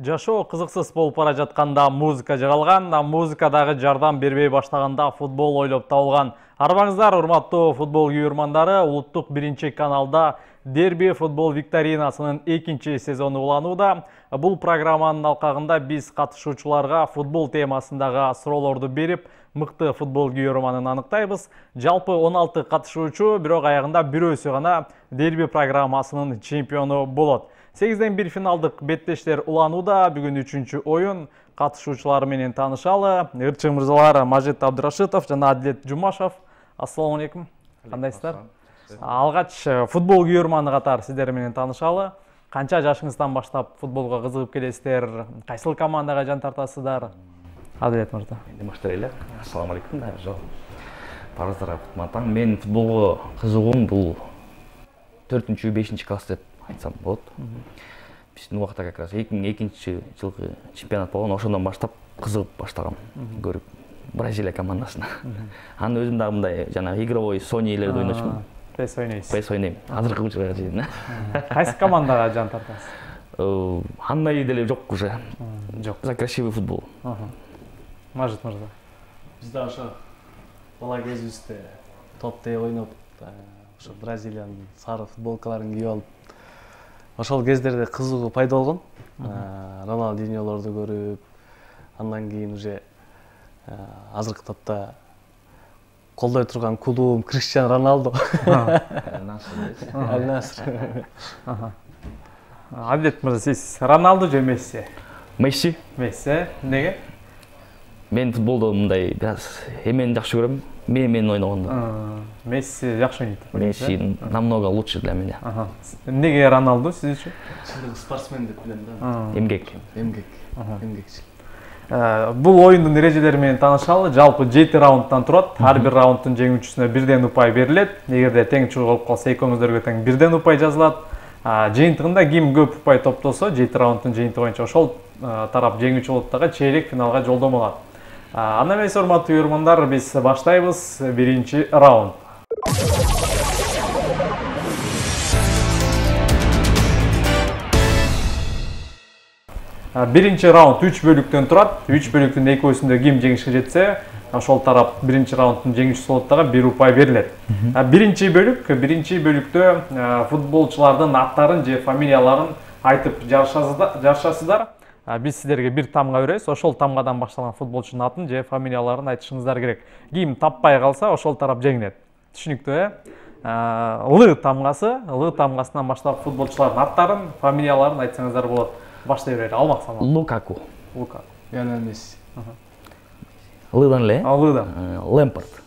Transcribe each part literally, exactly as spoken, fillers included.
Жашоо кызыксыз болуп бара жатканда музыка жыгалган, музыкадагы жардам бербей баштаганда футбол ойлоп табылган. Арбаңыздар, урматтуу футбол күйөрмандары, улуттук биринчи каналда Дерби футбол викторинасынын экинчи сезону уланууда. Бул программанын алкагында биз катышуучуларга футбол темасындагы суроолорду берип, мыкты футбол күйөрманын аныктайбыз. Жалпы он алты катышуучу, бирок аягында бирөөсү гана Дерби программасынын чемпиону болот. сегизден бир финалдык беттештер уланууда. Бүгүн үчүнчү оюн. Катышуучулар менен таанышалы. Ырчы мырзалар Мажит Абдырашитов жана Адилет Жумашев. Ассаламу алейкум. Кандайсыздар? Алгач футбол күйөрманы катары сиздер менен таанышалы. Канча жашыңыздан баштап футболго кызыгып келесиздер? Кайсыл командага жан тартасыздар? Адилет мырза. Менде баштайт эле. Ассаламу алейкум. Жок. Барыңыздар матаң. Мен футболго кызыгуум бул төртүнчү бешинчи класс деп айтсам болот. Биздин убакта как раз эки миң экинчи жылкы чемпионат болгон, ошондон баштап кызыгып баштагам көрүп Бразилия командасына. Анын өзүм дагы мындай жанагы игровой Sony-лерди ойночумун. Пес ойнойсуз. Пес ойнойм. Азыркы учурга чейин. Кайсы командага жан тартасыз? Андай деле жок уже. Жок. За красивый футбол. Мажит мырза. Биз да ошо бала кезибизде топ-тээ ойноп, ошо Бразилиянын сары футболкаларын кийип алып, ошол кездерде кызыгуу пайда болгон. Роналдиньолорду көрүп, андан кийин уже азыркы топто колдой турган клубум Криштиану Роналду. Аль-Наср. Адилет мырза, сиз Роналду же Месси? Месси. Месси. Неге? Мен футболду мындай бираз эмени жакшы көрөм. Мен менен ойногонду. Месси жакшы ойнойт. Месси намного лучше для меня. Неге Роналду сиз үчүн? Чындыгы спортсмен деп билем да. Эмгек. Эмгек. Эмгекчил. Бул оюндун эрежелери менен таанышалы. Жалпы жети раундтан турат. Ар бир раундтун жеңүүчүсүнө бирден упай берилет. Эгерде тең чогулуп калса, экөөңүздөргө тең бирден упай жазылат. Жыйынтыгында ким көп упай топтосо, жети раундтун жыйынтыгы боюнча ошол тарап жеңүүчү болот дагы чейрек финалга жолдомо алат. Анда эмес, урматтуу көрөрмандар, биз баштайбыз. Биринчи раунд. Биринчи раунд үч бөлүктөн турат. үч бөлүктүн экөөсүндө ким жеңишке жетсе, ошол тарап биринчи раундтун жеңүүчүсү болот дагы бир упай берилет. Биринчи бөлүк, биринчи бөлүктө футболчулардын аттарын же фамилияларын айтып жарышасыздар. Биз сиздерге бир тамга беребиз. Ошол тамгадан башталган футболчунун атын же фамилияларын айтышыңыздар керек. Ким таппай калса, ошол тарап жеңет. Түшүнүктүү, э? Л тамгасы, Л тамгасынан баштап футболчулардын аттарын, фамилияларын айтсаңыздар болот. Баштай берели. Алмак самал. Лукаку. Лукаку. Лионель Месси. Лыдан эле? Лыдан. Лэмпард.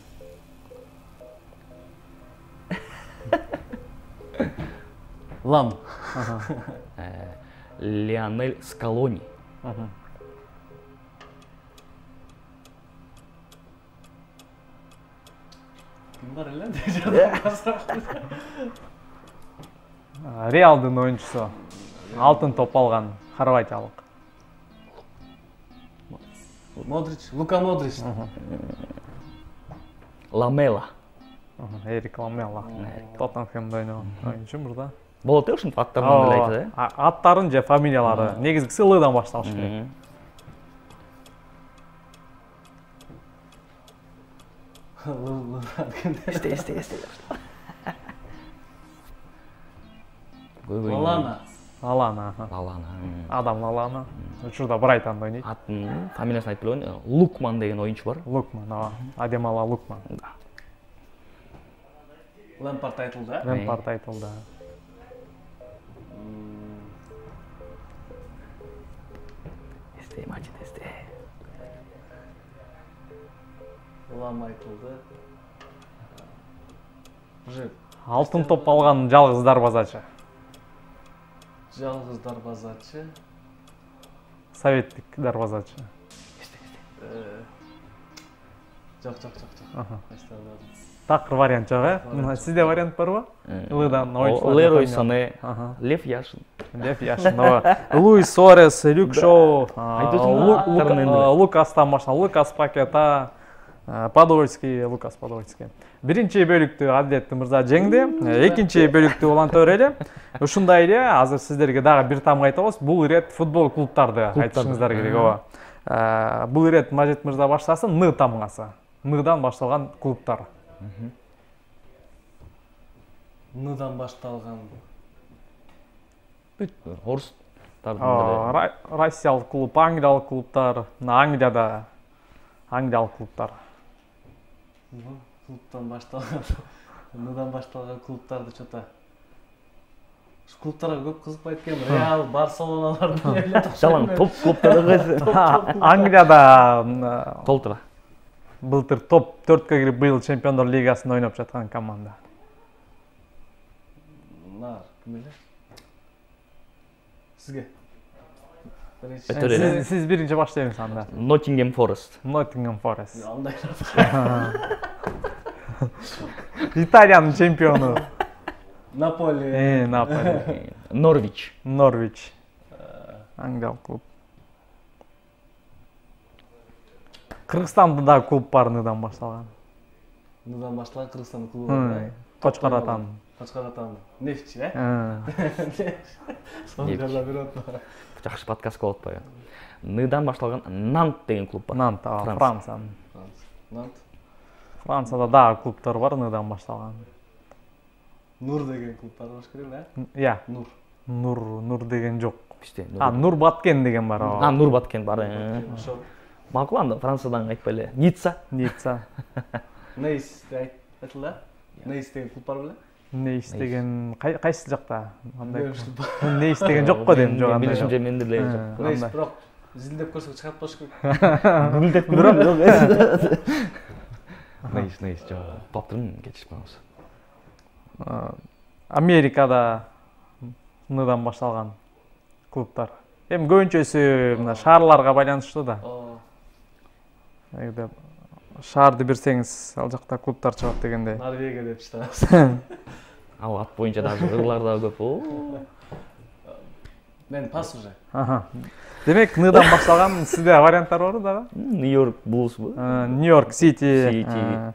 Лам. Лионель Скалони. Ким бар эле? Реалдын оюнчусу. Алтын топ алган хорватиялык. Модрич, Лука Модрич. Ламела. Эрик Ламела. Тоттенхэмде ойногон оюнчу мурда. Болот э, ушунтип аттарын деле айтты э? Аттарын же фамилиялары. Негизгиси Лдан башталыш керек. Эсте, эсте, эсте. Лалана. Лалана. Лалана. Адам Лалана. Учурда Брайтонда ойнойт. Атын фамилиясын айтып билбейм. Лукман деген оюнчу бар. Лукман, ооба. Адемала Лукман. Лэмпард айтылды, э? Лэмпард айтылды. Эсте, Мажит, эсте. Лам айтылды. Уже Алтын топ алган жалгыз дарбазачы. жалгыз дарбазачы. Советтик дарбазачы. Эсте, эсте. Жок, жок, жок, жок. Такыр вариант жок, э? Сизде вариант барбы? Лыдан оюнчулар. Лерой Сане, Лев Яшин. Лев Яшин, ооба. Луис Суарес, Люк Шоу, Лукастан башталып, Лукас Пакета, Подольский, Лукас Подольский. Биринчи бөлүктү Адилет Мырза жеңди. Экинчи бөлүктү уланта берели. Ушундай эле азыр сиздерге дагы бир тамга айтабыз. Бул ирет футбол клубтарды айтышыңыздар керек, ооба. Бул ирет Мажит Мырза баштасын, Н тамгасы. Ныдан башталган клубтар. Ныдан башталган. Орустар. Россиялык клуб, Англиялык клубтар, Англияда Англиялык клубтар. Клубтан башталган. Ныдан башталган клубтарды чота. Ушу клубтарга көп кызыкпайт экенмин. Реал, Барселоналардын эле Жалаң топ клубтары. Англияда Толтура. былтыр топ төрткө кирип быйыл Чемпиондор лигасында ойноп жаткан команда. Нар, ким эле? Сизге. Сиз сиз биринчи баштайбыз анда. Ноттингем Форест. Ноттингем Форест. Андай. Италиянын чемпиону. Наполи. Э, Наполи. Норвич. Норвич. Англиялык клуб. Кыргызстанда да клуб бар Ныдан башталган. Ныдан башталган Кыргызстандын клубу бар. Кочкор Атан. Кочкор Атан. Нефтчи, э? Сонголда бирот. Жакшы подкаст болуп атпайбы? Ныдан башталган Нант деген клуб бар. Нант, Франция. Нант. Францияда дагы клубтар бар Ныдан башталган. Нур деген клуб бар болуш керек, э? Иә. Нур. Нур, Нур деген жок. Бизде. А, Нур Баткен деген бар. А, Нур Баткен бар. Ошо. Макул анда Франциядан айтпай эле. Ницца. Ницца. Нейс айтылды. Нейс деген клуб бар беле? Нейс деген кайсы жакта? Андай. Нейс деген жок го дейм, жок андай. Билишимче менде деле жок. Нейс бирок зилдеп көрсөк чыгат болуш керек. Билдеп бирок жок. Нейс, нейс жок. Баптырым кетишип калабыз. Америкада Ныдан башталган клубтар. Эми көбүнчөсү мына шаарларга байланыштуу да. Эгер шаарды берсеңиз, ал жакта клубтар чыгат дегенде. Норвегия деп чыгабыз. Ал ат боюнча даже ырлар да көп. Мен пас уже. Аха. Демек, Ныдан башталган сизде варианттар барбы дагы? Нью-Йорк Буллсбу? Нью-Йорк Сити. Сити.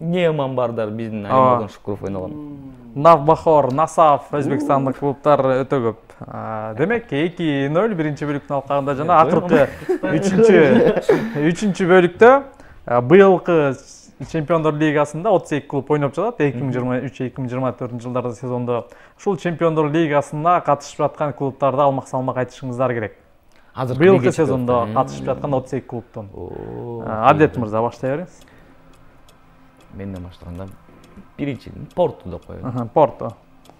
Неман бардар, биздин Аймаган Шукуров ойногон. Навбахор, Насаф, өзбекстандык клубтар өтө көп. Демек, эки нөл биринчи бөлүктүн алкагында жана акыркы үчүнчү үчүнчү бөлүктө быйылкы Чемпиондор лигасында отуз эки клуб ойноп жатат. эки миң жыйырма үч эки миң жыйырма төртүнчү жылдарда сезондо ушул Чемпиондор лигасына катышып жаткан клубтарды алмак салмак айтышыңыздар керек. Быйылкы сезондо катышып жаткан отуз эки клубтун. Адилет Мырза баштай бериңиз. Менден баштаганда биринчи Порту деп коебуз. Порту.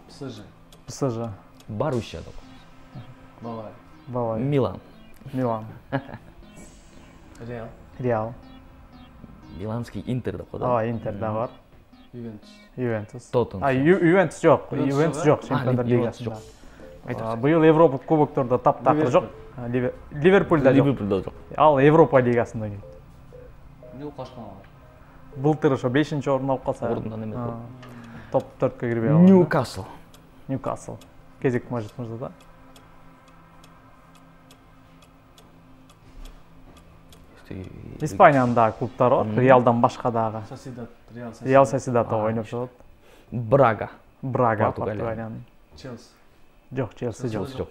ПСЖ. ПСЖ. Боруссия деп коебуз. Бавария. Бавария. Милан. Милан. Реал. Реал. Миланский Интер деп коебуз. Ооба, Интер да бар. Ювентус. Ювентус. Тоттенхэм. А, Ювентус жок. Ювентус жок Чемпиондор лигасында. Быйыл Европа кубоктордо таптакыр жок. Ливерпульда жок. Ливерпульда жок. Ал Европа лигасында келет. Ньюкасл бар. Былтыр ошо бешинчи орун алып калса. Орундан эме. Топ төрткө кирбей калган. Ньюкасл. Ньюкасл. Кезек Мажит Мырзада. Испаниянын дагы клубтары бар. Реалдан башка дагы. Сосидад, Реал Сосидад. Реал Сосидадда ойноп жатат. Брага. Брага, Португалиянын. Челси. Жок, Челси жок. жок.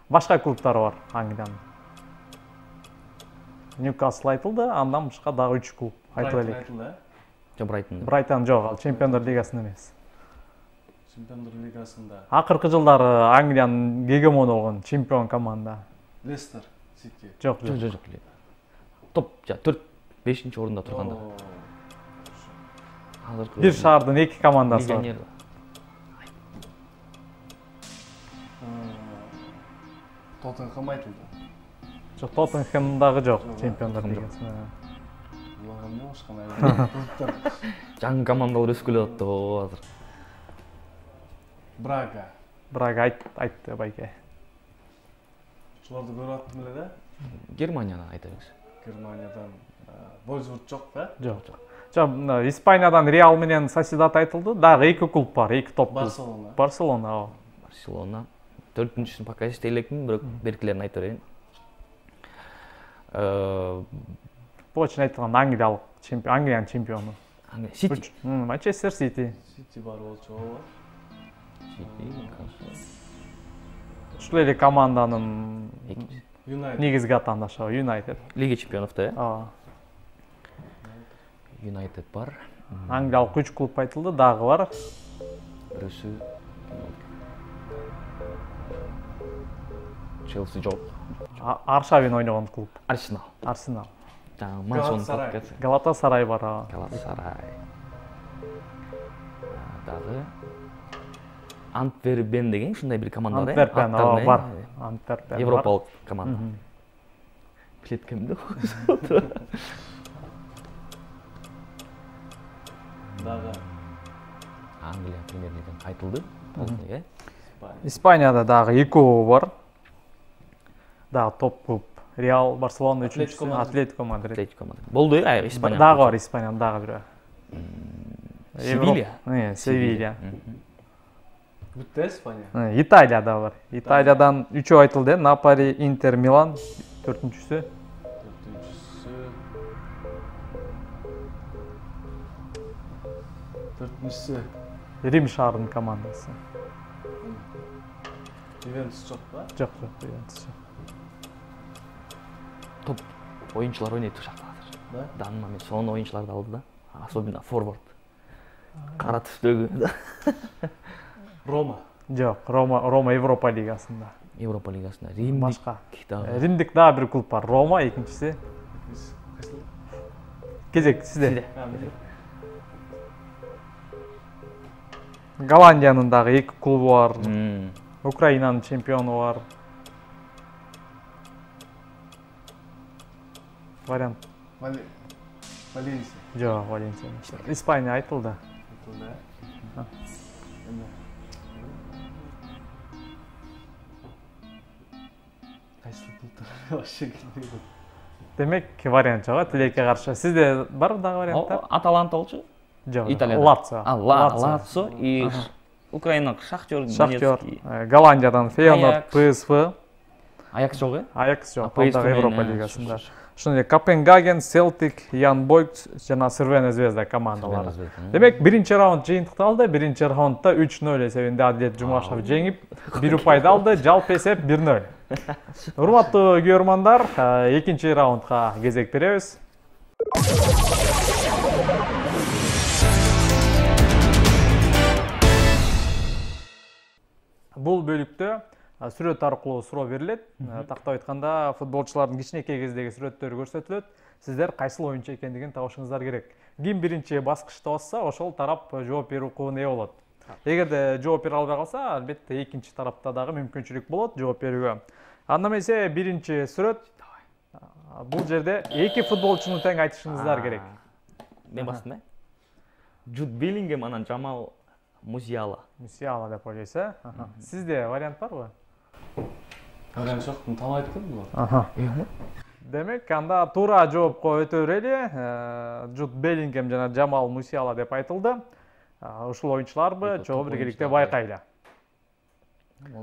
Башка клубтары бар Англиянын. Ньюкасл айтылды, андан башка дагы үч клуб айтып элек. Жок, Брайтон. Брайтон жок, ал Чемпиондор лигасында эмес. Чемпиондор лигасында. Акыркы жылдары Англиянын гегемону болгон чемпион команда. Лестер Сити. Жок, Жок, жок, жок. Топ төрт бешинчи орунда турганда. Азыркы бир шаардын эки командасы бар. Тоттенхэм айтылды. Жок, Тоттенхэм дагы жок Чемпиондор лигасында. Буларга эмне болушкан? Жаңы командалар өсүп келе атты го азыр. Брага. Брага айтты байке. Шуларды көрүп аттым эле да. Германиядан айтабыз. Германиядан Вольсбург жок да? Жок, жок. Жок, Испаниядан Реал менен Сосидад айтылды. Дагы эки клуб бар, эки топ клуб. Барселона. Барселона, ооба. Барселона. Төртүнчүсүн пока эстей элекмин, бирок беркилерин айтып берейин. точно айтылган Англиялык чемпион, Англиянын чемпиону. Сити. Манчестер Сити. Сити бар болчу ооба. Ушул эле команданын Юнайтед. негизги атаандашы Юнайтед. Лига чемпионовдо, э? Ооба. Юнайтед бар. Англиялык үч клуб айтылды, дагы бар. Бирөөсү Челси жок. Аршавин ойногон клуб. Арсенал. Арсенал. Жаңы Мансон Галатасарай. Галатасарай бар. ооба. Галатасарай. Дагы Антверпен деген ушундай бир команда бар. Антверпен, ооба, бар. Антверпен. Европалык команда. Билет кимде? Дагы Англия премьер-лигадан айтылды. Толук, э? Испанияда дагы эки клуб бар. Дагы топ клуб. Реал, Барселона үчүнчүсү, Атлетико Мадрид. Атлетико Мадрид. Болду, э, Испания. Дагы бар Испаниянын дагы бирөө. Севилья. Э, Севилья. бүтө Испания. Э, Италияда бар. Италиядан үчөө айтылды. Наполи, Интер, Милан төртүнчүсү. Төртүнчүсү. Төртүнчүсү. Рим шаарынын командасы. Ювентус жок ба? Жок, жок, Ювентус. Топ оюнчулар ойнойт ушакта азыр. Да? Данный момент сонун оюнчуларды алды да. Особенно форвард. Кара түстөгү. Рома. Жок, Рома, Рома Европа лигасында. Европа лигасында. Рим Башка. дагы. Римдик дагы бир клуб бар. Рома экинчиси. Кезек сизде. Голландиянын дагы эки клубу бар. Украинанын чемпиону бар. Вариант. Валенсия. Жок, Валенсия. Испания айтылды. Айтылды, э? Эме. Кайсы клубтар? Вообще келбейт. Демек, вариант жок, тилекке каршы. Сизде бар дагы варианттар? Аталанта болчу? Жок. Италияда. Лацио. А, Лацио и Украина Шахтер, Шахтер. Донецкий. Голландиядан Фейнорд, Аякс. ПСВ. Аякс жок, э? Аякс жок. ПСВ Дагы Европа менен, лигасында. ш- Ошондой эле Копенгаген, Селтик, Ян Бойкт жана Цервена Звезда командалары. Цервена Звезда, Демек, биринчи раунд жыйынтыкталды. Биринчи раундда үч нөл эсебинде Адилет Жумашев жеңип, бир упайды алды. Жалпы эсеп бир нөл. Урматтуу көрөрмандар, экинчи раундга кезек беребиз. Бул бөлүктө сүрөт аркылуу суроо берилет. Тактап айтканда, футболчулардын кичинекей кездеги сүрөттөрү көрсөтүлөт. Сиздер кайсыл оюнчу экендигин табышыңыздар керек. Ким биринчи баскычта басса, ошол тарап жооп берүү укугуна ээ болот. Эгерде жооп бере албай калса, албетте экинчи тарапта дагы мүмкүнчүлүк болот жооп берүүгө. Анда эмесе биринчи сүрөт. Бул жерде эки футболчуну тең айтышыңыздар керек. Мен бастым, э? Джуд Беллингем анан Жамал Мусиала. Мусиала деп ойлойсуз, э? Сизде вариант барбы? Вариант жок, тааныбайт экенмин булар. Аха. Демек, анда туура жоопко өтө берели. Джуд Беллингем жана Жамал Мусиала деп айтылды. Ушул оюнчуларбы, чогуу биргеликте байкайлы.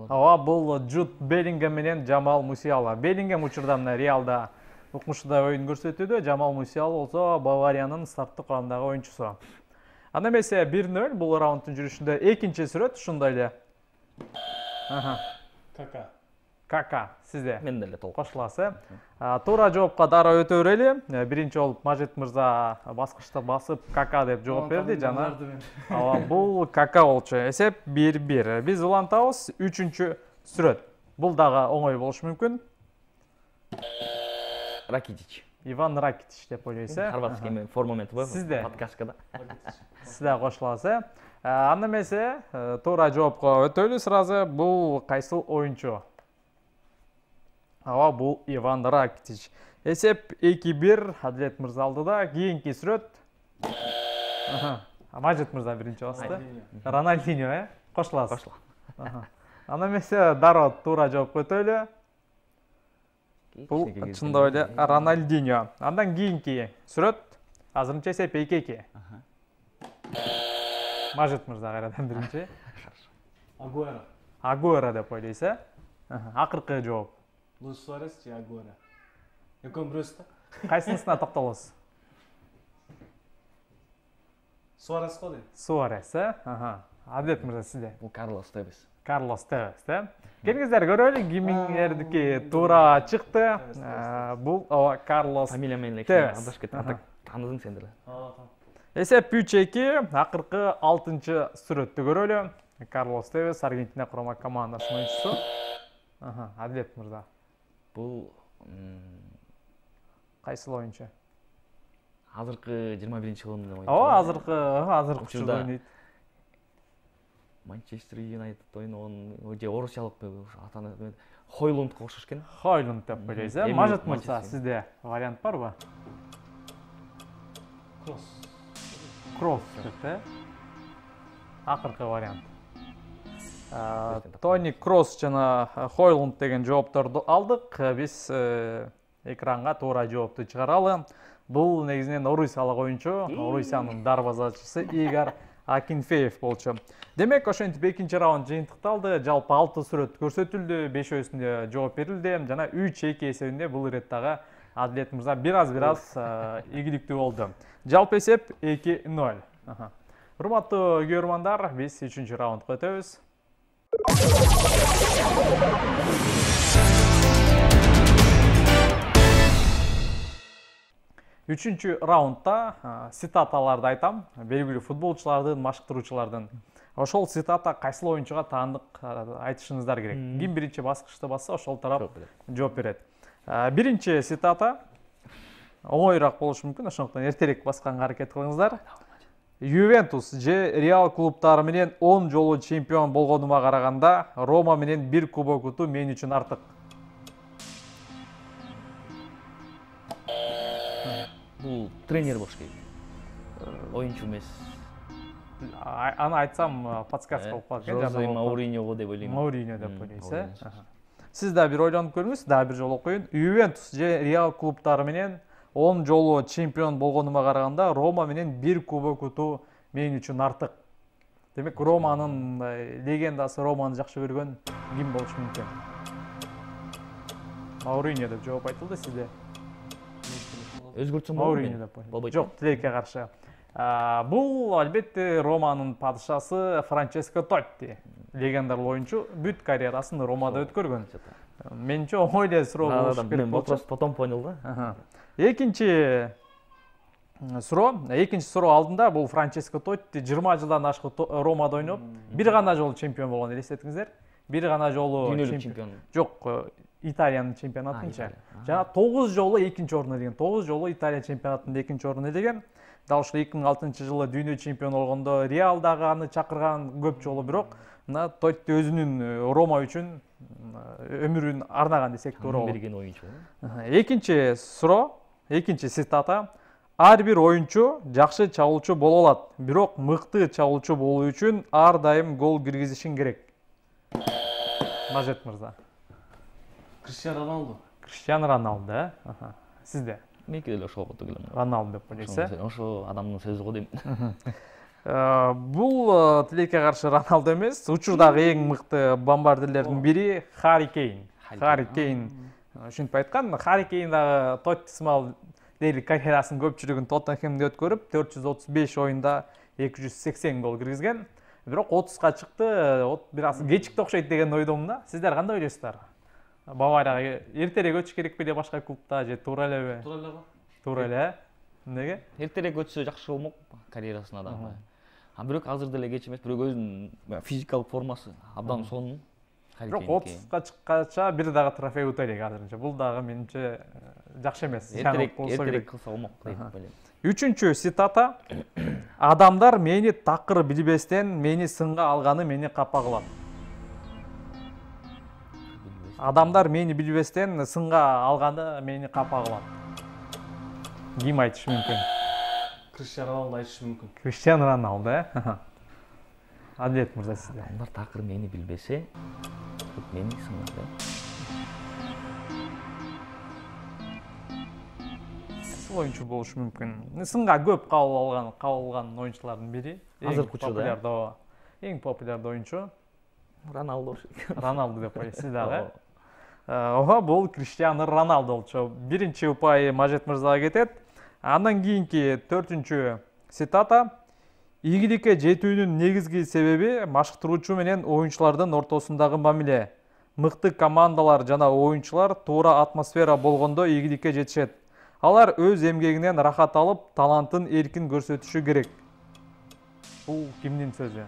Ооба, бул Джуд Беллингем менен Жамал Мусиала. Беллингем учурда мына Реалда укмуштуудай оюн көрсөтүүдө, Жамал Мусиала болсо Бавариянын старттык курамдагы оюнчусу. Анда эмесе бир нөл бул раундтун жүрүшүндө экинчи сүрөт ушундай эле. Аха. Кака. Кака, сизде. Мен деле толук. Кошуласыз. Туура жоопко дароо өтө берели. Биринчи болуп Мажит мырза баскычты басып Кака деп жооп берди жана. Ооба, бул Кака болчу. Эсеп бир бир. Биз улантабыз. Үчүнчү сүрөт. Бул дагы оңой болушу мүмкүн. Ракитич. Иван Ракитич деп ойлойсуз. Хорватский форма менен бар. Сизде. Подкасткада. Сиз да кошуласыз. Анда эмесе туура жоопко өтөлү сразу. Бул кайсыл оюнчу? Ооба, бул Иван Ракитич. Эсеп эки бир Адилет мырза алдыда. Кийинки сүрөт. Аха. Мажит мырза биринчи басты. Рональдиньо, э? Кошуласыз. Кошула. Анда эмесе дароо туура жоопко өтөлү. Бул чындап эле Рональдиньо. Андан кийинки сүрөт. Азырынча эсеп эки эки. Мажит мырза кайрадан биринчи. Агуэро. Агуэро деп ойлойсуз, э? Акыркы жооп. Луис Суарес же Агуэро. Экөө бирөөсү да. Кайсынысына токтолосуз? Суарес го дейм. Суарес, э? Аха. Адилет мырза сизде? Бул Карлос Тевес. Карлос Тевес, э? Келиңиздер көрөлү, кимиңердики туура чыкты. Бул ооба Карлос. Фамилия менен Тевес. адашып кеттим. Таныдың сен деле. Эсеп үч эки, акыркы алтынчы сүрөттү көрөлү. Карлос Тевес, Аргентина курама командасынын оюнчусу. Аха, Адилет мырза. Бул Кайсыл оюнчу? азыркы жыйырма биринчи жылдын оюнчусу. Ооба, азыркы, азыркы Учурда ойнойт. Манчестер Юнайтед ойногон, же орусчалык атаны Хойлундга окшош экен. Хойлунд деп ойлойсуз, э? Мажит мырза, сизде вариант барбы? Кросс. Кросс деп, э? Акыркы вариант. Тони Кросс жана Хойлунд деген жоопторду алдык. Биз экранга туура жоопту чыгаралы. Бул негизинен Орусиялык оюнчу, Орусиянын дарбазачысы Игорь Акинфеев болчу. Демек, ошентип экинчи раунд жыйынтыкталды. Жалпы алты сүрөт көрсөтүлдү, бешөөсүндө жооп берилди. Жана үч эки эсебинде бул ирет дагы Адилет мырза бир аз бир аз ийгиликтүү болду. Жалпы эсеп эки ноль. Урматтуу көрөрмандар, биз үчүнчү раундга өтөбүз. Үчүнчү раундда цитаталарды айтам, белгилүү футболчулардын, машыктыруучулардын. Ошол цитата кайсыл оюнчуга таандык айтышыңыздар керек. Ким биринчи баскычты басса, ошол тарап жооп берет. Биринчи цитата оңоюраак болушу мүмкүн, ошондуктан эртерээк басканга аракет кылыңыздар. Ювентус же Реал клубтары менен он жолу чемпион болгонума караганда, Рома менен бир кубок утуу мен үчүн артык. Бул тренер болуш керек. Оюнчу эмес. Аны айтсам подсказка болуп калат экен. Жозе Мауриньо деп ойлойм. Мауриньо деп ойлойсуз, э? Сиз да бир ойлонуп көрүңүз, да бир жолу окуйун. Ювентус же Реал клубтары менен он жолу чемпион болгонума караганда, Рома менен бир кубок утуу мен үчүн артык. Демек, Романын легендасы, Романы жакшы көргөн ким болушу мүмкүн? Мауриньо деп жооп айтылды, сизде? Өзгөртсөм Мауриньо деп ойлойм. Жок, тилекке каршы. Бул албетте Романын падышасы Франческо Тотти. Легендарлуу оюнчу, бүт карьерасын Ромада өткөргөн. Менче оңой эле суроо болушу керек болчу. Потом понял да. Экинчи суроо, экинчи суроо алдында бул Франческо Тотти жыйырма жылдан ашык Ромада ойноп, бир гана жолу чемпион болгон, элестетиңиздер. Бир гана жолу чемпион. Жок, Италиянын чемпионатынча. Жана тогуз жолу экинчи орун ээлеген. тогуз жолу Италия чемпионатында экинчи орун ээлеген. Дал ушул эки миң алтынчы жылы дүйнө чемпион болгондо Реал дагы аны чакырган көп жолу, бирок мына Тотти өзүнүн Рома үчүн өмүрүн арнаган десек туура болот. Берген оюнчу. Экинчи суроо, экинчи цитата. Ар бир оюнчу жакшы чабуулчу боло алат, бирок мыкты чабуулчу болуу үчүн ар дайым гол киргизишиң керек. Мажет мырза. Криштиану Роналду. Криштиану Роналду, э? Сизде? Меники деле ошол кото келем. Роналду деп ойлойсуз, э? Ошо адамдын сөзү го дейм. Бул тилекке каршы Роналду эмес, учурдагы эң мыкты бомбардирлердин бири Харри Кейн. Харри Кейн ушинтип айткан. Харри Кейн дагы Тотти сымал дээрлик карьерасынын көпчүлүгүн Тоттенхемде өткөрүп, төрт жүз отуз беш оюнда эки жүз сексен гол киргизген. Бирок отузга чыкты, бир аз кечикти окшойт деген ойдомун да. Сиздер кандай ойлойсуздар? Баварияга эртерээк өтүш керек беле башка клубта же туура элеби? Туура эле. Туура эле. Эмнеге? Эртерээк өтсө жакшы болмок карьерасына дагы. А бирок азыр деле кеч эмес, бирок өзүнүн физикалык формасы абдан сонун. Бирок отузга чыккача бир дагы трофей ута элек азырынча. Бул дагы менимче жакшы эмес. Эртерээк кылса болмок деп ойлойм. Үчүнчү цитата. Адамдар мени такыр билбестен мени сынга алганы мени капа кылат. Адамдар мени билбестен сынга алганы мени капа кылат. Ким айтышы мүмкүн? Криштиану Роналду айтышы мүмкүн. Криштиану Роналду, э? Адилет мырза, сизде? Адамдар такыр мени билбесе, мени сынгады. Кайсыл оюнчу болушу мүмкүн? Сынга көп кабыл алган, кабыл алган оюнчулардын бири. Азыркы учурда эң популярдуу оюнчу Роналду. Роналду деп ойлойсуз дагы. ооба бул Криштиану Роналду болчу. Биринчи упай Мажит мырзага кетет. Андан кийинки төртүнчү цитата: ийгиликке жетүүнүн негизги себеби машыктыруучу менен оюнчулардын ортосундагы мамиле. Мыкты командалар жана оюнчулар туура атмосфера болгондо ийгиликке жетишет. Алар өз эмгегинен рахат алып, талантын эркин көрсөтүшү керек. Бул кимдин сөзү?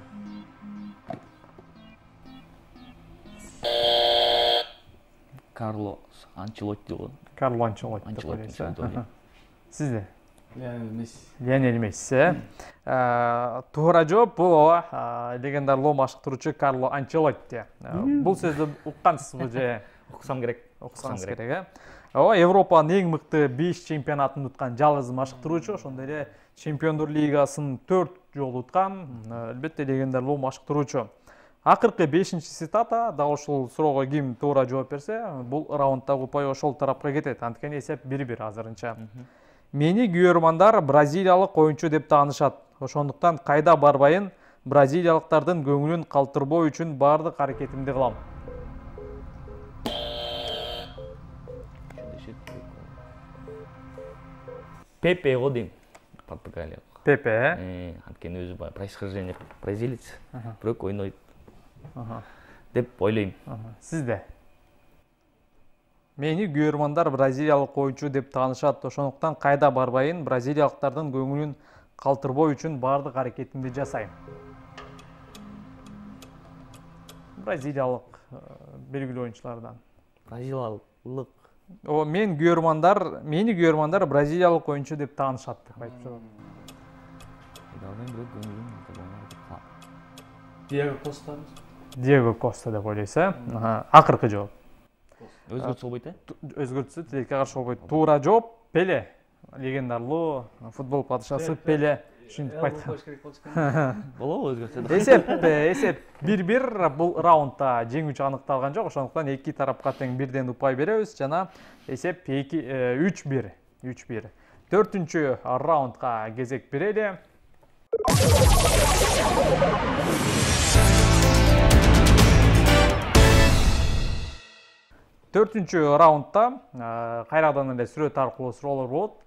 Карло Анчелотти болот. Карло Анчелотти деп ойлойсуз. Сизде? Лионель Месси. Лионель Месси. Туура жооп бул легендарлуу машыктыруучу Карло Анчелотти. Бул сөздү уккансызбы же? Уксам керек. Уксаңыз керек, э? Ооба, Европанын эң мыкты беш чемпионатын уткан жалгыз машыктыруучу, ошондой эле Чемпиондор лигасын төрт жолу уткан, албетте легендарлуу машыктыруучу. Акыркы бешинчи цитата, дал ушул суроого ким туура жооп берсе, бул раунддагы упай ошол тарапка кетет. Анткени эсеп бир бир азырынча. Мени күйөрмандар бразилиялык оюнчу деп таанышат. Ошондуктан кайда барбайын, бразилиялыктардын көңүлүн калтырбоо үчүн бардык аракетимди кылам. Пепе го дейм. Португалия. Пепе, э? Анткени өзү происхождение бразилец, бирок ойнойт деп ойлойм. Сизде? Мени күйөрмандар бразилиялык оюнчу деп таанышат. Ошондуктан кайда барбайын, бразилиялыктардын көңүлүн калтырбоо үчүн бардык аракетимди жасайм. Бразилиялык белгилүү оюнчулардан. Бразилиялык. О, мен күйөрмандар, мени күйөрмандар бразилиялык оюнчу деп таанышат деп айтып жатат. Диего Коста. Диего Коста деп ойлойсуз, э? Акыркы жооп. Өзгөртсө болбойт, э? Өзгөртсө тилекке каршы болбойт. Туура жооп Пеле. Легендарлуу футбол падышасы Пеле. Ушинтип айткан. Болобу өзгөртсө? Эсеп, эсеп бир бир. Бул раундда жеңүүчү аныкталган жок. Ошондуктан эки тарапка тең бирден упай беребиз жана эсеп үч бир. үч бир. Төртүнчү раундга кезек берели. Төртүнчү раундда кайрадан эле сүрөт аркылуу суроолор болот.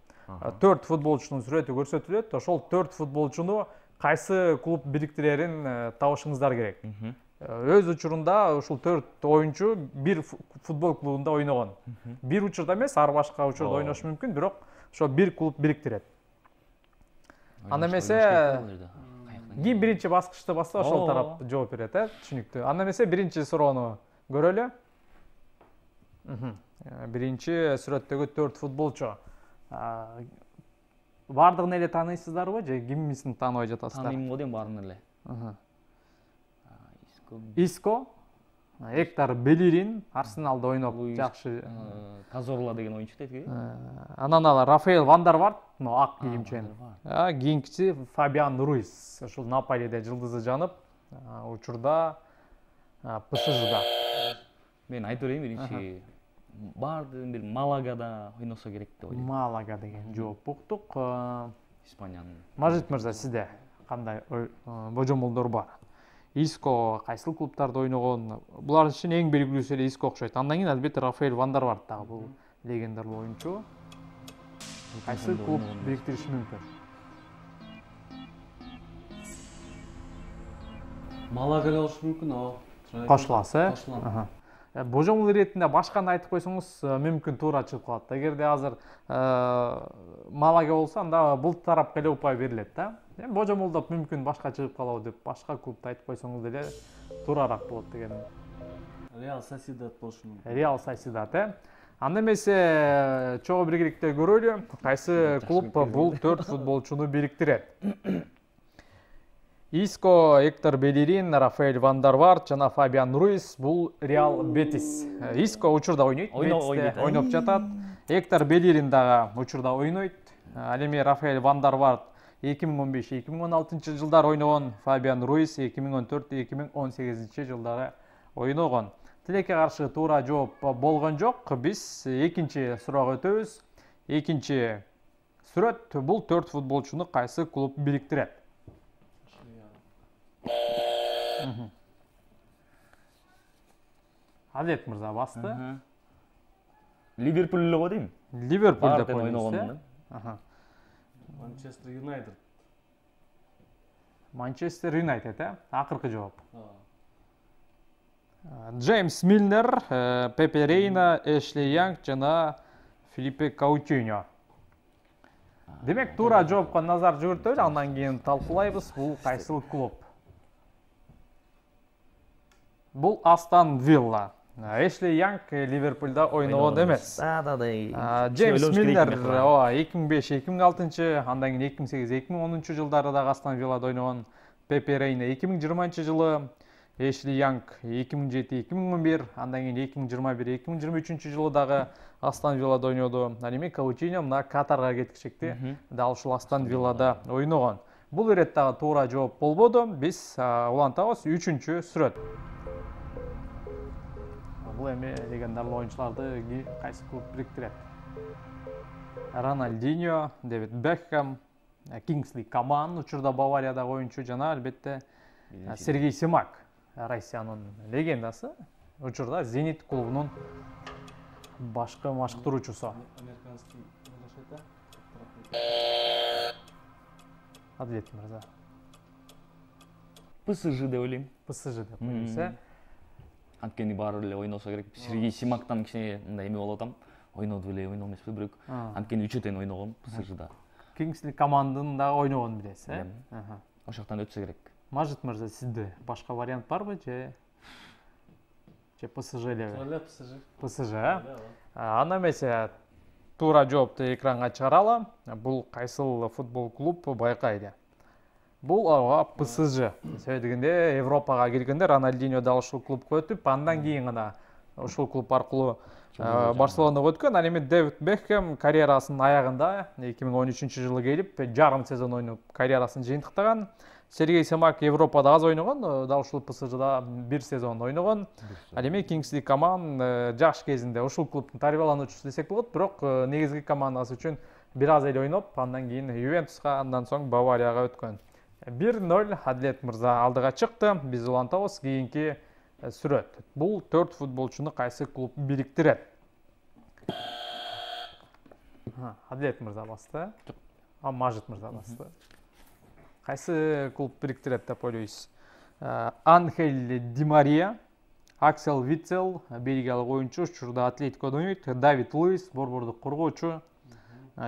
Төрт футболчунун сүрөтү көрсөтүлөт. Ошол төрт футболчуну кайсы клуб бириктирерин табышыңыздар керек. Өз учурунда ушул төрт оюнчу бир футбол клубунда ойногон. Бир учурда эмес, ар башка учурда ойношу мүмкүн, бирок ошо бир клуб бириктирет. Анда эмесе ким биринчи баскычты басса, ошол тарап жооп берет, э? Түшүнүктүү. Анда эмесе биринчи суроону көрөлү. Биринчи сүрөттөгү төрт футболчу. Бардыгын эле тааныйсыздарбы же кимисин тааныбай жатасыздар? Тааныйм го дейм баарын эле. Иско, Эктор Белерин, Арсеналда ойноп жакшы. Казорла деген оюнчу дейт. Анан ал Рафаэл Вандарварт, ак кийимчен. Кийинкиси Фабиан Руис, ушул Наполиде жылдызы жанып, учурда ПСЖда. Мен айтып берейин биринчи. Бардыгын бир Малагада ойносо керек деп ойлойм. Малага деген жооп уктук. Испаниянын. Мажит мырза, сизде кандай божомолдор бар? Иско кайсыл клубтарда ойногон? Булардын ичинен эң белгилүүсү эле Иско окшойт. Андан кийин албетте Рафаэл Вандарварт дагы бул легендарлуу оюнчу. Кайсы клуб бириктириши мүмкүн? Малага эле болушу мүмкүн, ооба. Кошуласы, э? Божомол иретинде башканы айтып койсоңуз мүмкүн туура чыгып калат. Эгерде азыр Малага болсо, анда бул тарапка эле упай берилет да. Эми божомолдоп мүмкүн башка чыгып калабы деп башка клубду айтып койсоңуз деле туурараак болот деген. Реал Сосидад болушу мүмкүн. Реал Сосидад, э? Анда эмесе чогуу биргеликте көрөлү, кайсы клуб бул төрт футболчуну бириктирет. Иско, Эктор Белерин, Рафаэл Вандарварт жана Фабиан Руис бул Реал Бетис. Иско учурда ойнойт, ойноп жатат. Эктор Белерин дагы учурда ойнойт. Ал эми Рафаэл Вандарварт эки миң он беш эки миң он алтынчы жылдары ойногон, Фабиан Руис эки миң он төрт эки миң он сегизинчи жылдары ойногон. Тилекке каршы туура жооп болгон жок. Биз экинчи суроого өтөбүз. Экинчи сүрөт, бул төрт футболчуну кайсы клуб бириктирет? Адет мырза басты. Ливерпуль эле го дейм. Ливерпуль деп ойногон. Манчестер Юнайтед. Манчестер Юнайтед, э? Акыркы жооп. Джеймс Милнер, Пепе Рейна, Эшли Янг жана Филиппе Каутиньо. Демек, туура жоопко назар жүгүртөлү, андан кийин талкуулайбыз. Бул кайсыл клуб? Бул Астон Вилла. Эшли Янг Ливерпулда ойногон эмес. Джеймс Милнер эки миң беш эки миң алтынчы, андан кийин эки миң сегиз эки миң онунчу жылдары да Астон Виллада ойногон. Пепе Рейна эки миң жыйырманчы жылы, Эшли Янг эки миң жети эки миң он бир, андан кийин эки миң жыйырма бир эки миң жыйырма үчүнчү жылы дагы Астон Виллада ойноду. Ал эми Каутиньо мына Катарга кеткичекти. Дал ушул Астон Виллада ойногон. Бул ирет дагы туура жооп болбоду. Биз улантабыз үчүнчү сүрөт. Бул эми легендарлуу оюнчуларды кайсы клуб бириктирет? Рональдиньо, Дэвид Бекхэм, Кингсли Коман, учурда Бавариядагы оюнчу жана албетте Сергей Семак, Россиянын легендасы, учурда Зенит клубунун башкы машыктыруучусу. Адилет мырза. ПСЖ деп ойлойм. ПСЖ деп ойлойсуз, э? Анткени баары эле ойносо керек. Сергей Семактан кичине мындай эме болуп атам. Ойноду беле, ойноо эмеспи бирок. Анткени үчөө тең ойногом ПСЖда. Кингсли командын да ойногон билесиз, э? Ошоктан өтсө керек. Мажит мырза, сизде башка вариант барбы же же ПСЖ элеби? Эле ПСЖ. ПСЖ, э? Анда эмесе туура жоопту экранга чыгаралы. Бул кайсыл футбол клуб байкайды? Бул ПСЖ. Себеби дегенде Европага келгенде Рональдиньо да ушул клубка өтүп, андан кийин гана ушул клуб аркылуу Барселонага өткөн. Ал эми Дэвид Бекхэм карьерасынын аягында эки миң он үчүнчү жылы келип, жарым сезон ойноп карьерасын жыйынтыктаган. Сергей Семак Европада аз ойногон, дал ушул ПСЖда бир сезон ойногон. Ал эми Кингсли Коман жаш кезинде ушул клубтун тарбиялануучусу десек болот, бирок негизги командасы үчүн бир аз эле ойноп, андан кийин Ювентуска, андан соң Баварияга өткөн. бир ноль Адилет мырза алдыга чыкты. Биз улантабыз кийинки сүрөт. Бул төрт футболчуну кайсы клуб бириктирет? Адилет мырза басты. А Мажит мырза басты. Кайсы клуб бириктирет деп ойлойсуз? Анхель Ди Мария, Аксел Витцел, бельгиялык оюнчу, учурда Атлетикодо ойнойт. Давид Луис, борбордук коргоочу,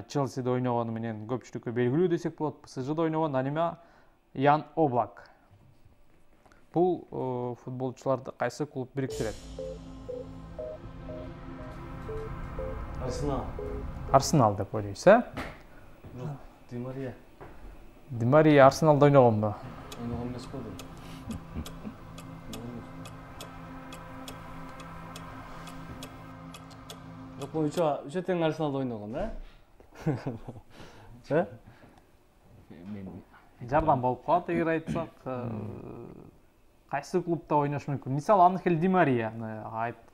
Челсиде ойногону менен көпчүлүккө белгилүү десек болот. ПСЖда ойногон. Ал эми Ян Облак. Бул футболчуларды кайсы клуб бириктирет? Арсенал. Арсенал деп ойлойсуз, э? Жок, Ди Мария. Ди Мария Арсеналда ойногонбу? Ойногон эмес болду. Жок, бул үчөө үчөө тең Арсеналда ойногон, э? Э? Жардам болуп калат, эгер айтсак, кайсы клубда ойнош мүмкүн? Мисалы, Анхель Ди Марияны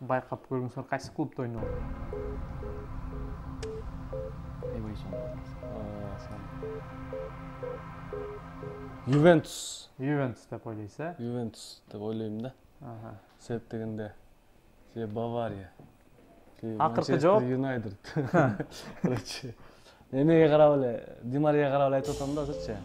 байкап көрүңүздөр, кайсы клубда ойногон? Ювентус. Ювентус деп ойлойсуз, э? Ювентус деп ойлойм да. Себеп дегенде же Бавария. Акыркы жооп Юнайтед. Короче, эмеге карап эле, Ди Марияга карап эле айтып атам да азырчы.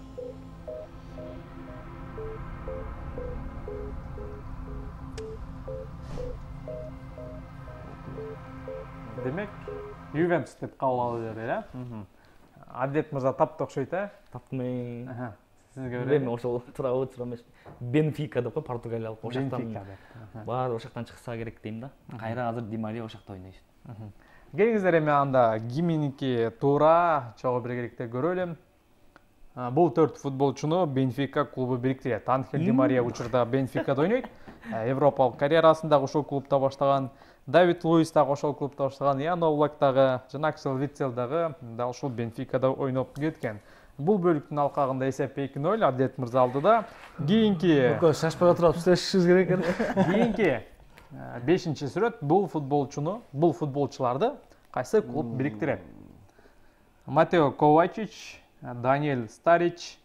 Демек, Ювентус деп кабыл алып бере, э? Адилет мырза тапты окшойт, э? Таптым. Сизге эми ошол туурабы, туура эмеспи? Бенфика деп, Португалиялык. Ошоктон баары ошоктон чыкса керек дейм да. Кайра азыр Ди Мария ошокто ойнойт. Келиңиздер эми анда киминики туура чогуу биргеликте көрөлү. Бул төрт футболчуну Бенфика клубу бириктирет. Анхель Ди Мария учурда Бенфикада ойнойт. Европалык карьерасын дагы ошол клубда баштаган. Давид Луис дагы ошол клубда баштаган. Ян Облак дагы жана Аксел Витцел дагы дал ушул Бенфикада ойноп кеткен. Бул бөлүктүн алкагында эсеп эки ноль Адилет мырза алдыда. Кийинки Көкө шашпай отуруп сүйлөшүшүбүз керек экен. Кийинки бешинчи сүрөт бул футболчуну, бул футболчуларды кайсы клуб бириктирет? Матео Ковачич, Даниэль Старич,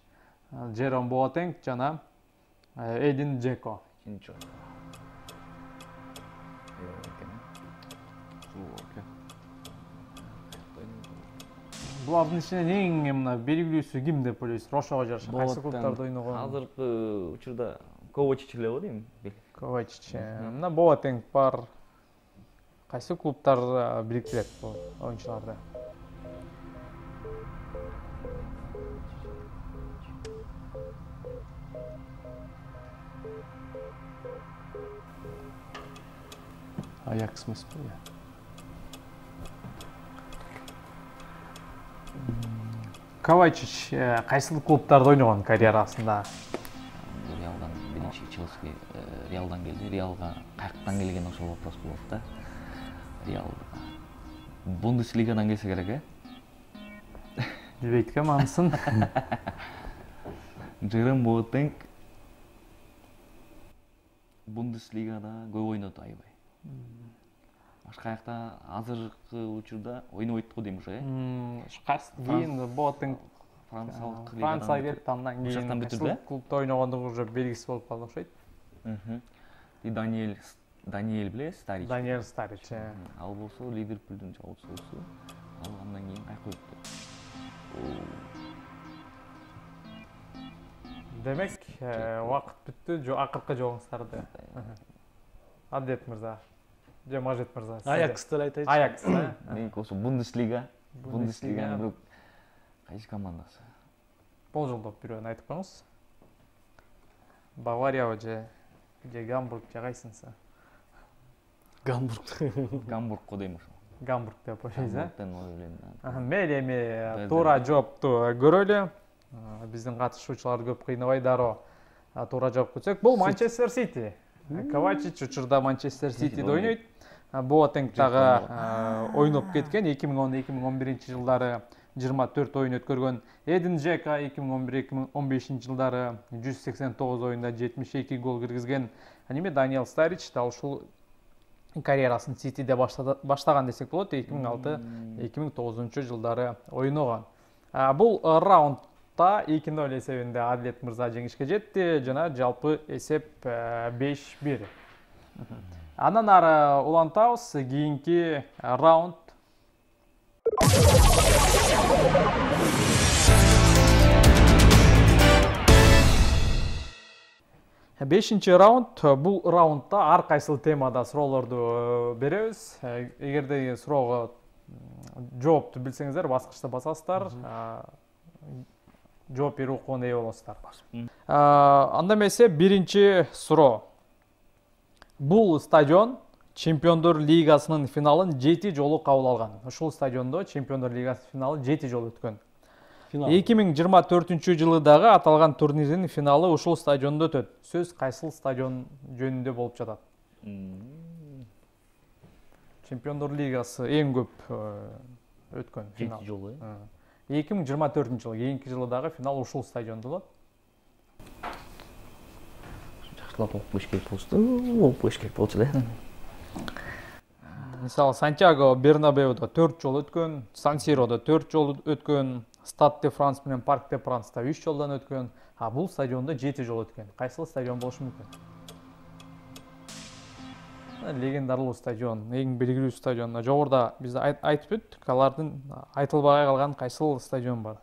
Жером Боатенг жана Эдин Джеко. Булардын ичинен эң мына белгилүүсү ким деп ойлойсуз? Ошого жараша кайсы клубтарда ойногон? Азыркы учурда Ковачич эле го дейм. Ковачич. Мына Боатенг бар. Кайсы клубтар бириктирет бул оюнчуларды? Аякс эмеспи? Ковачич кайсы клубтарда ойногон карьерасында? Реалдан биринчи Челси Реалдан келди. Реалга каяктан келген ошол вопрос болот да. Реал Бундеслигадан келсе керек, э? Билбейт экен анысын. Жером Боатенг Бундеслигада көп ойноду аябай. Башка жакта азыркы учурда ойнобойт го дейм уже, э? Кийин Боатенг Франциялык Францияга кетти, андан кийин кайсы клубда ойногондугу уже белгисиз болуп калды окшойт. И Даниэль Даниэль билесиз, Старич. Даниэль Старич. Ал болсо Ливерпулдун жаутчусу. Ал андан кийин кайка өттү. Демек, убакыт бүттү, акыркы жолуңуздарды. Адет мырза. Же Мажит мырза. Аякс деп айтайчы. Аякс, э? Меники болсо Бундеслига. Бундеслиганын бир кайсы командасы? Бул жолдоп бирөөнү айтып коюңуз. Бавария же же Гамбург же кайсынысы? Гамбург. Гамбург го дейм ошо. Гамбург деп ойлойсуз, э? Гамбургтен ойлойм. Мейли, эми туура жоопту көрөлү. Биздин катышуучулар көп кыйнабай дароо туура жооп кетсек, бул Манчестер Сити. Ковачич учурда Манчестер Ситиде ойнойт. Боатенг дагы ойноп кеткен эки миң он эки миң он биринчи жылдары жыйырма төрт ойын өткөргөн. Эдин Джека эки миң он бир эки миң он бешинчи жылдары жүз сексен тогуз ойында жетимиш эки гол киргизген. Эми Даниэль Старич да ушул карьерасын Ситиде баштаган десек болот. эки миң алты эки миң тогузунчу жылдары ойногон. Бул раундда эки ноль эсебинде Адлет мырза жеңишке жетти жана жалпы эсеп беш бир. Андан ары улантабыз, кийинки раунд. бешинчи раунд. Бул раундда ар кайсыл темада суроолорду беребиз. Эгерде суроого жоопту билсеңиздер, баскычта басасыздар. Жооп берүү укугуна ээ болосуздар. Анда эмесе биринчи суроо. Бул стадион Чемпиондор лигасынын финалын жети жолу кабыл алган. Ушул стадиондо Чемпиондор лигасынын финалы жети жолу өткөн. эки миң жыйырма төртүнчү жылы дагы аталган турнирдин финалы ушул стадиондо өтөт. Сөз кайсыл стадион жөнүндө болуп жатат? Чемпиондор лигасы эң көп өткөн финал. жети жолу. эки миң жыйырма төртүнчү жылы, кийинки жылы дагы финал ушул стадиондо болот. Жакшылап окуп кеш керек болчу. Окуп кеш керек болчу да. Мисалы Сантьяго Бернабеудо төрт жол өткөн, Сан-Сирода төрт жол өткөн, Стад де Франс менен Парк де Франста үч жолдан өткөн, а бул стадиондо жети жол өткөн. Кайсыл стадион болушу мүмкүн? Легендарлуу стадион, эң белгилүү стадион. Жогоруда биз айтып өттүк, алардын айтылбай калган кайсыл стадион бар?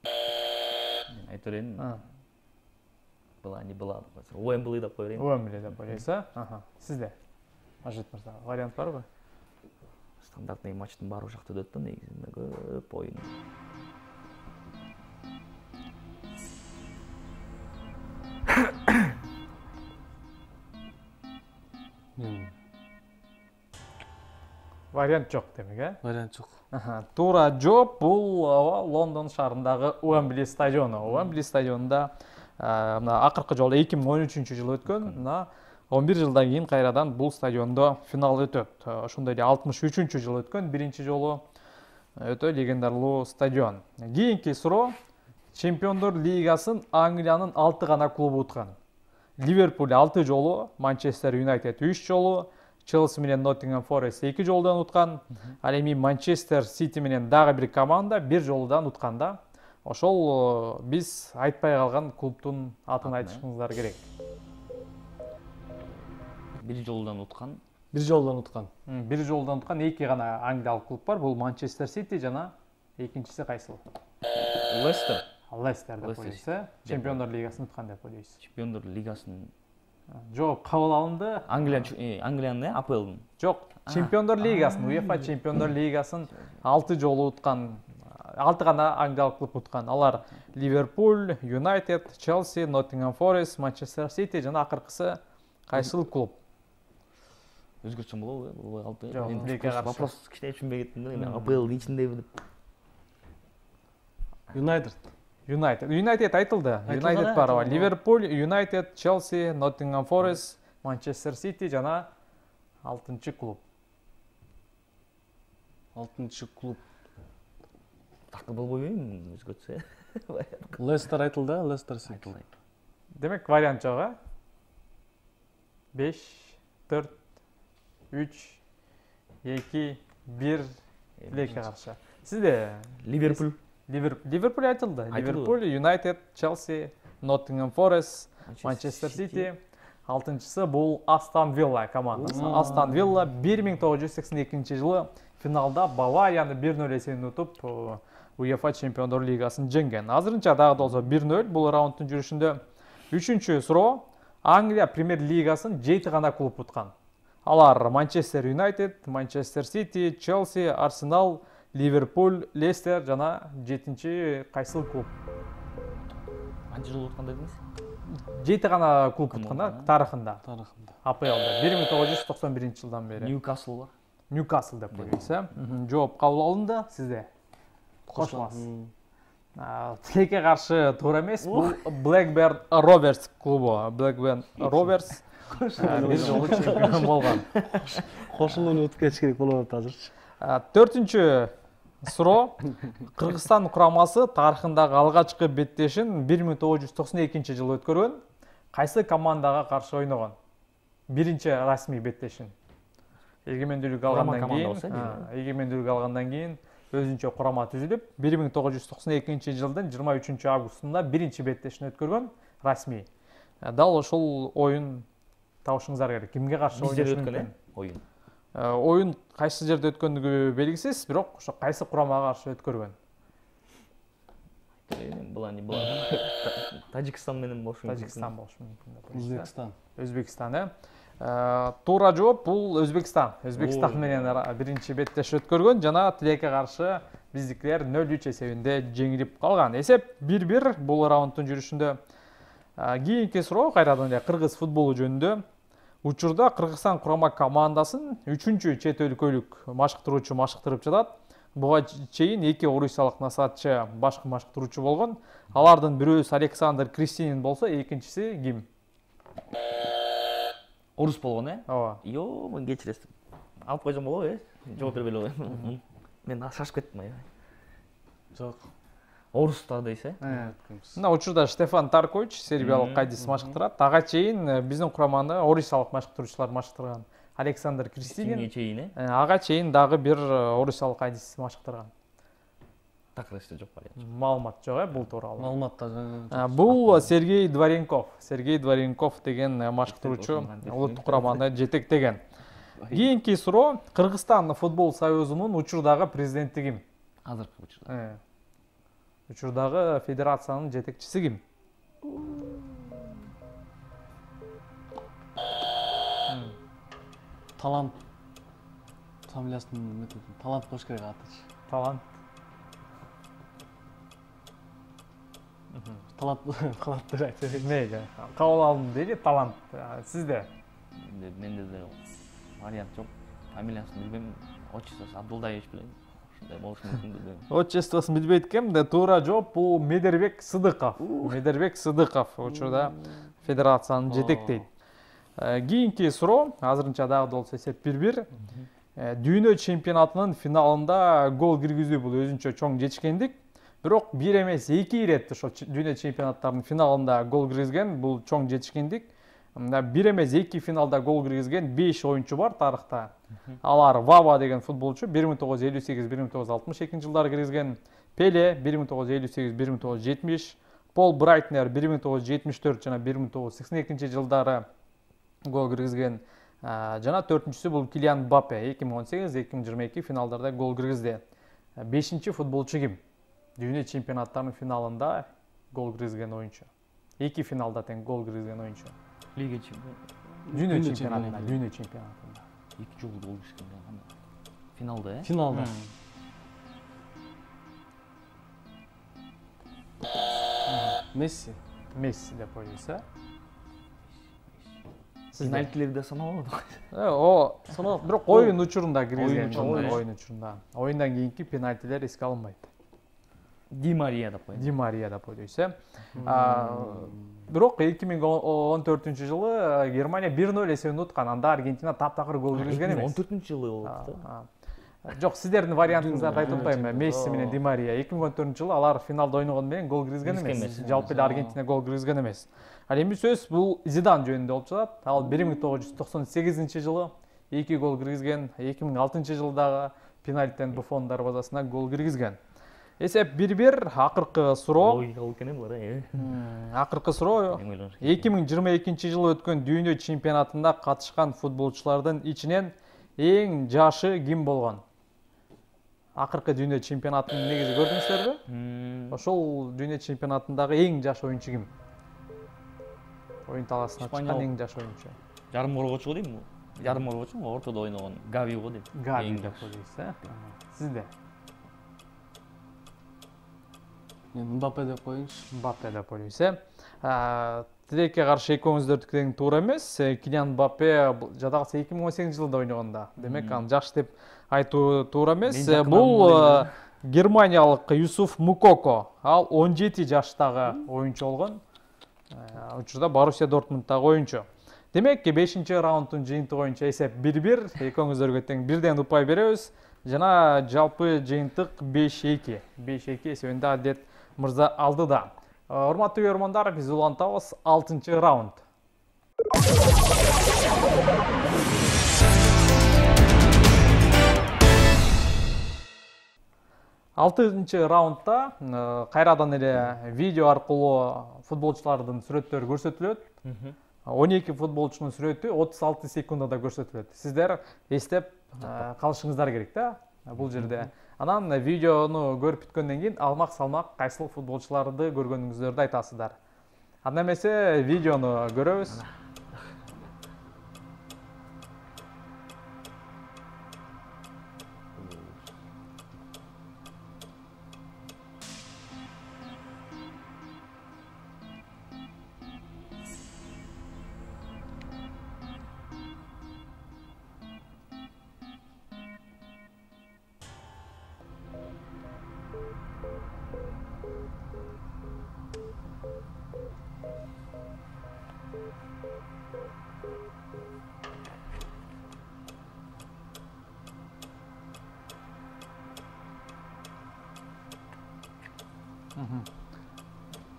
Мен айтып берейин. Была не была. Уэмбли деп коёюн. Уэмбли деп ойлойсуз, а? Сизде? Мажит мырза, вариант барбы? Стандартный матчтын баары жакта өтөт да, негизинде көп оюн. Вариант жок демек, э? Вариант жок. Туура жооп бул Лондон шаарындагы Уэмбли стадиону. Уэмбли стадионунда мына акыркы жолу эки миң он үчүнчү жылы өткөн. Мына он бир жылдан кийин кайрадан бул стадиондо финал өтөт. Ошондой эле алтымыш үчүнчү жылы өткөн, биринчи жолу өтө легендарлуу стадион. Кийинки суроо. Чемпиондор лигасын Англиянын алты гана клубу уткан. Ливерпуль алты жолу, Манчестер Юнайтед үч жолу, Челси менен Ноттингем Форест эки жолдан уткан. Ал эми Манчестер Сити менен дагы бир команда бир жолдан уткан да. Ошол биз айтпай калган клубтун атын айтышыңыздар керек. Бир жолдан уткан. бир жолдон уткан. Бир жолдон уткан эки гана англиялык клуб бар. Бул Манчестер Сити жана экинчиси кайсыл? Лестер. Лестер деп ойлойсуз. Чемпиондор лигасын уткан деп ойлойсуз. Чемпиондор лигасын Жок, кабыл алынды. Англия Англиянын А П Л'дын. Жок, Чемпиондор лигасын, УЕФА Чемпиондор лигасын алты жолу уткан. алты гана англиялык клуб уткан. Алар Ливерпуль, Юнайтед, Челси, Ноттингем Форест, Манчестер Сити жана акыркысы кайсыл клуб? Өзгөртсөм болобу? Бул алты. Жок, тилекке каршы. Вопрос кичине түшүнбөй кеттим да. Мен А П Л ичиндеби деп. Юнайтед. Юнайтед. Юнайтед айтылды. Юнайтед бар. Ливерпуль, Юнайтед, Челси, Ноттингем Форест, Манчестер Сити жана алтынчы клуб. алтынчы клуб. Так болбойбу, өзгөртсө. Лестер айтылды, Лестер Сити. Айтылды. Демек вариант жок, а? беш, төрт, үч, эки, бир тилекке каршы. Сизде Ливерпуль. Ливерпуль айтылды. Ливерпуль, Юнайтед, Челси, Ноттингем Форест, Манчестер Сити. Алтынчысы бул Астон Вилла командасы. Астон Вилла бир миң тогуз жүз сексен экинчи жылы финалда Баварияны бир нөл эсебинен утуп УЕФА Чемпиондор лигасын жеңген. Азырынча дагы болсо бир нөл бул раундтун жүрүшүндө. Үчүнчү суроо. Англия премьер лигасын жети гана клуб уткан. Алар Манчестер Юнайтед, Манчестер Сити, Челси, Арсенал, Ливерпуль, Лестер жана жетинчи кайсыл клуб? Канча жыл уткан дедиңиз? жети гана клуб уткан да тарыхында. Тарыхында. А П Л'да бир миң тогуз жүз токсон биринчи жылдан бери. Ньюкасл бар. Ньюкасл деп коебуз, э? Жооп кабыл алынды. Сизде кошуласыз. Тилекке каршы туура эмес. Бул Blackburn Rovers клубу. Blackburn Rovers бир жолу чемпион болгон. Кошулууну утуп кетиш керек болуп атат азырчы. Төртүнчү суроо. Кыргызстан курамасы тарыхындагы алгачкы беттешин бир миң тогуз жүз токсон экинчи жылы өткөргөн. Кайсы командага каршы ойногон? Биринчи расмий беттешин. Эгемендүүлүк алгандан кийин, эгемендүүлүк алгандан кийин өзүнчө курама түзүлүп, бир миң тогуз жүз токсон экинчи жылдын жыйырма үчүнчү августунда биринчи беттешин өткөргөн расмий. Дал ошол оюн табышыңыздар керек. Кимге каршы ойношу мүмкүн? Оюн. Оюн кайсы жерде өткөндүгү белгисиз, бирок ошо кайсы курамага каршы өткөргөн? Була не була. Тажикстан менен болушу мүмкүн. Тажикстан болушу мүмкүн. Өзбекстан. Өзбекстан, э? Туура жооп бул Өзбекстан. Өзбекстан менен биринчи беттеш өткөргөн жана тилекке каршы биздикилер нөл үч эсебинде жеңилип калган. Эсеп бир бир бул раундтун жүрүшүндө. Кийинки суроо кайрадан эле кыргыз футболу жөнүндө. Учурда Кыргызстан курама командасын үчүнчү чет өлкөлүк машыктыруучу машыктырып жатат. Буга чейин эки орусиялык насаатчы башкы машыктыруучу болгон. Алардын бирөөсү Александр Кристинин болсо, экинчиси ким? Орус болгон, э? Ооба. Йо, мен кечиресиз. Алып койсом болобу, э? Жооп бербей элем. Мен шашып кеттим, ай. Жок. Орустар дейсиз, э? Мына учурда Штефан Таркович сербиялык кайдис машыктырат. Ага чейин биздин кураманы орусиялык машыктыруучулар машыктырган. Александр Кристинин. чейин, э? Ага чейин дагы бир орусиялык кайдис машыктырган. Такырышта жок бар. Маалымат жок, э, бул тууралуу. Маалыматта жок. Бул Сергей Дворенков. Сергей Дворенков деген машыктыруучу улуттук кураманы жетектеген. Кийинки суроо. Кыргызстан футбол союзунун учурдагы президенти ким? Азыркы учурда. Учурдагы федерациянын жетекчиси ким? Талант. Фамилиясын Талант кош керек атычы. Талант. Талант, талант деп айтып. Мейли. Кабыл алдым дейли, талант. Сизде? Менде да вариант жок. Фамилиясын билбейм. Отчествосы Абдулдаевич билем. Ушундай болушу мүмкүн билбейм. Отчествосын билбейт экен, да туура жооп бул Медербек Сыдыков. Медербек Сыдыков учурда федерациянын жетектейт. Кийинки суроо, азырынча дагы болсо эсеп бир бир. Дүйнө чемпионатынын финалында гол киргизүү бул өзүнчө чоң жетишкендик. Бирок бир эмес эки ирет ошо дүйнө чемпионаттарынын финалында гол киргизген, бул чоң жетишкендик. Бир эмес эки финалда гол киргизген беш оюнчу бар тарыхта. Алар Вава деген футболчу бир миң тогуз жүз элүү сегиз бир миң тогуз жүз алтымыш экинчи жылдары киргизген, Пеле бир миң тогуз жүз элүү сегиз бир миң тогуз жүз жетимиш, Пол Брайтнер бир миң тогуз жүз жетимиш төрт жана бир миң тогуз жүз сексен экинчи жылдары гол киргизген. Жана төртүнчүсү бул Килиан Мбаппе эки миң он сегиз эки миң жыйырма эки финалдарда гол киргизди. бешинчи футболчу ким? Дүйнө чемпионаттарынын финалында гол киргизген оюнчу. Эки финалда тең гол киргизген оюнчу. Лига чемпионы. Дүйнө чемпионатында, дүйнө чемпионатында. эки жолу гол киргизген кандай? Финалда, э? Финалда. Месси. Месси деп ойлойсуз, э? Пенальтилерди саналат. О, саналат, бирок оюн учурунда киргизген, учурунда. оюн учурунда. Оюндан кийинки пенальтилер эске алынбайт. Ди Мария деп коет. Ди Мария деп ойлойсуз, э? Бирок эки миң он төртүнчү жылы Германия бир ноль эсебин уткан. Анда Аргентина таптакыр гол киргизген эмес. он төртүнчү жылы болуп да. Жок, сиздердин вариантыңыздарды айтып атпайм. Месси менен Ди Мария эки миң он төртүнчү жылы алар финалда ойногону менен гол киргизген эмес. Жалпы эле Аргентина гол киргизген эмес. Ал эми сөз бул Зидан жөнүндө болуп жатат. Ал бир миң тогуз жүз токсон сегизинчи жылы эки гол киргизген, эки миң алтынчы жылы дагы пенальтиден Буффон дарбазасына гол киргизген. Эсеп бир бир. Акыркы суроо. Логикалык экен булар, э. Акыркы суроо. эки миң жыйырма экинчи жылы өткөн дүйнө чемпионатында катышкан футболчулардын ичинен эң жашы ким болгон? Акыркы дүйнө чемпионатын негизи көрдүңүздөрбү? Ошол дүйнө чемпионатындагы эң жаш оюнчу ким? Оюн талаасына чыккан эң жаш оюнчу. Жарым коргоочу дейм. Жарым коргоочу, ортодо ойногон Гави го дейм. Гави деп ойлойсуз, э? Сизде? Мен Мбаппе деп коеюнчу. Мбаппе деп ойлойсуз, э? Тилекке каршы экөөңүздөрдүкү тең туура эмес. Килиан Мбаппе жадагысы эки миң он сегизинчи жылда ойногонда. Демек, аны жаш деп айтуу туура эмес. Бул германиялык Юсуф Мукоко. Ал он жети жаштагы оюнчу болгон. Учурда Боруссия Дортмундтагы оюнчу. Демек, бешинчи раунддун жыйынтыгы боюнча эсеп бир бир. Экөөңүздөргө тең бирден упай беребиз. Жана жалпы жыйынтык беш эки. беш эки эсебинде Адет мырза алды да. Урматтуу көрөрмандар, биз улантабыз алтынчы раунд. алтынчы раундда кайрадан эле видео аркылуу футболчулардын сүрөттөрү көрсөтүлөт. он эки футболчунун сүрөтү отуз алты секундада көрсөтүлөт. Сиздер эстеп калышыңыздар керек да бул жерде. Анан видеону көрүп бүткөндөн кийин алмак салмак кайсыл футболчуларды көргөнүңүздөрдү айтасыздар. Анда эмесе видеону көрөбүз.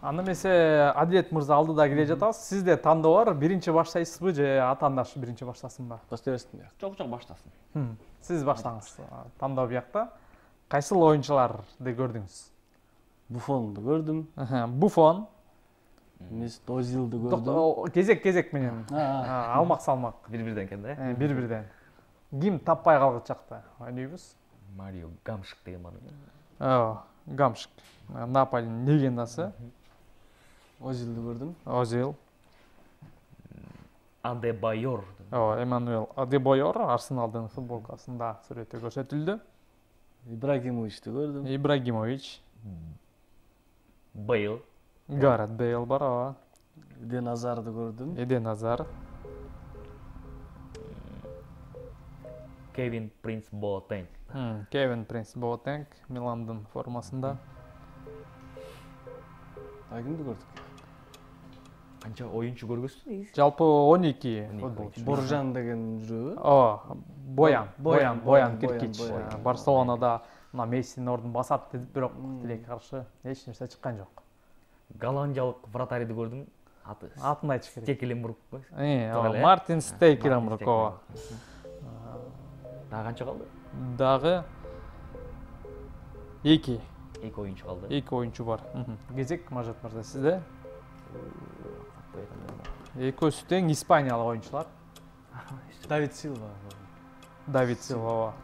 Анда эмесе Адилет мырза алдыда келе жатасыз. Сизде тандоо бар, биринчи баштайсызбы же атаандаш биринчи баштасынбы? Баштайбызбы? Жок, жок, баштасын. Сиз баштаңыз. Тандоо биякта. Кайсыл оюнчуларды көрдүңүз? Буффонду көрдүм. Буффон. Месут Озилди көрдүм. Кезек-кезек менен. Алмак салмак. Бир-бирден экен да. Бир-бирден. Ким таппай калгычакта ойнойбуз? Марио Гамшик деген бар. Оо, Гамшик. Наполинин легендасы. Озилди көрдүм. Озил. Адебайор. Оо, Эммануэл Адебайор Арсеналдын футболкасында сүрөтү көрсөтүлдү. Ибрагимовичти көрдүм. Ибрагимович. Бейл. Гарет Бейл бар, ооба. Эден Азарды көрдүм. Эден Азар. Кевин Принц Боатенг. Кевин Принц Боатенг Миландын формасында. А кимди көрдүк? Канча оюнчу көргөзсүз? Жалпы он эки футболчу. Боржан деген жүрөбү? Ооба, Боян, Боян, Боян Киркич. Боян. Барселонада мына Мессинин ордун басат деп, бирок тилекке каршы эч нерсе чыккан жок. Голландиялык вратарьды көрдүм. Аты. Атын айтыш керек. Стекеленбург. Э, Мартин Стекеленбург. Дагы канча калды? Дагы эки. Эки оюнчу калды. Эки оюнчу бар. Кезек Мажат мырза сизде? Экөөсү тең испаниялык оюнчулар. Давид Силва. Давид Силва.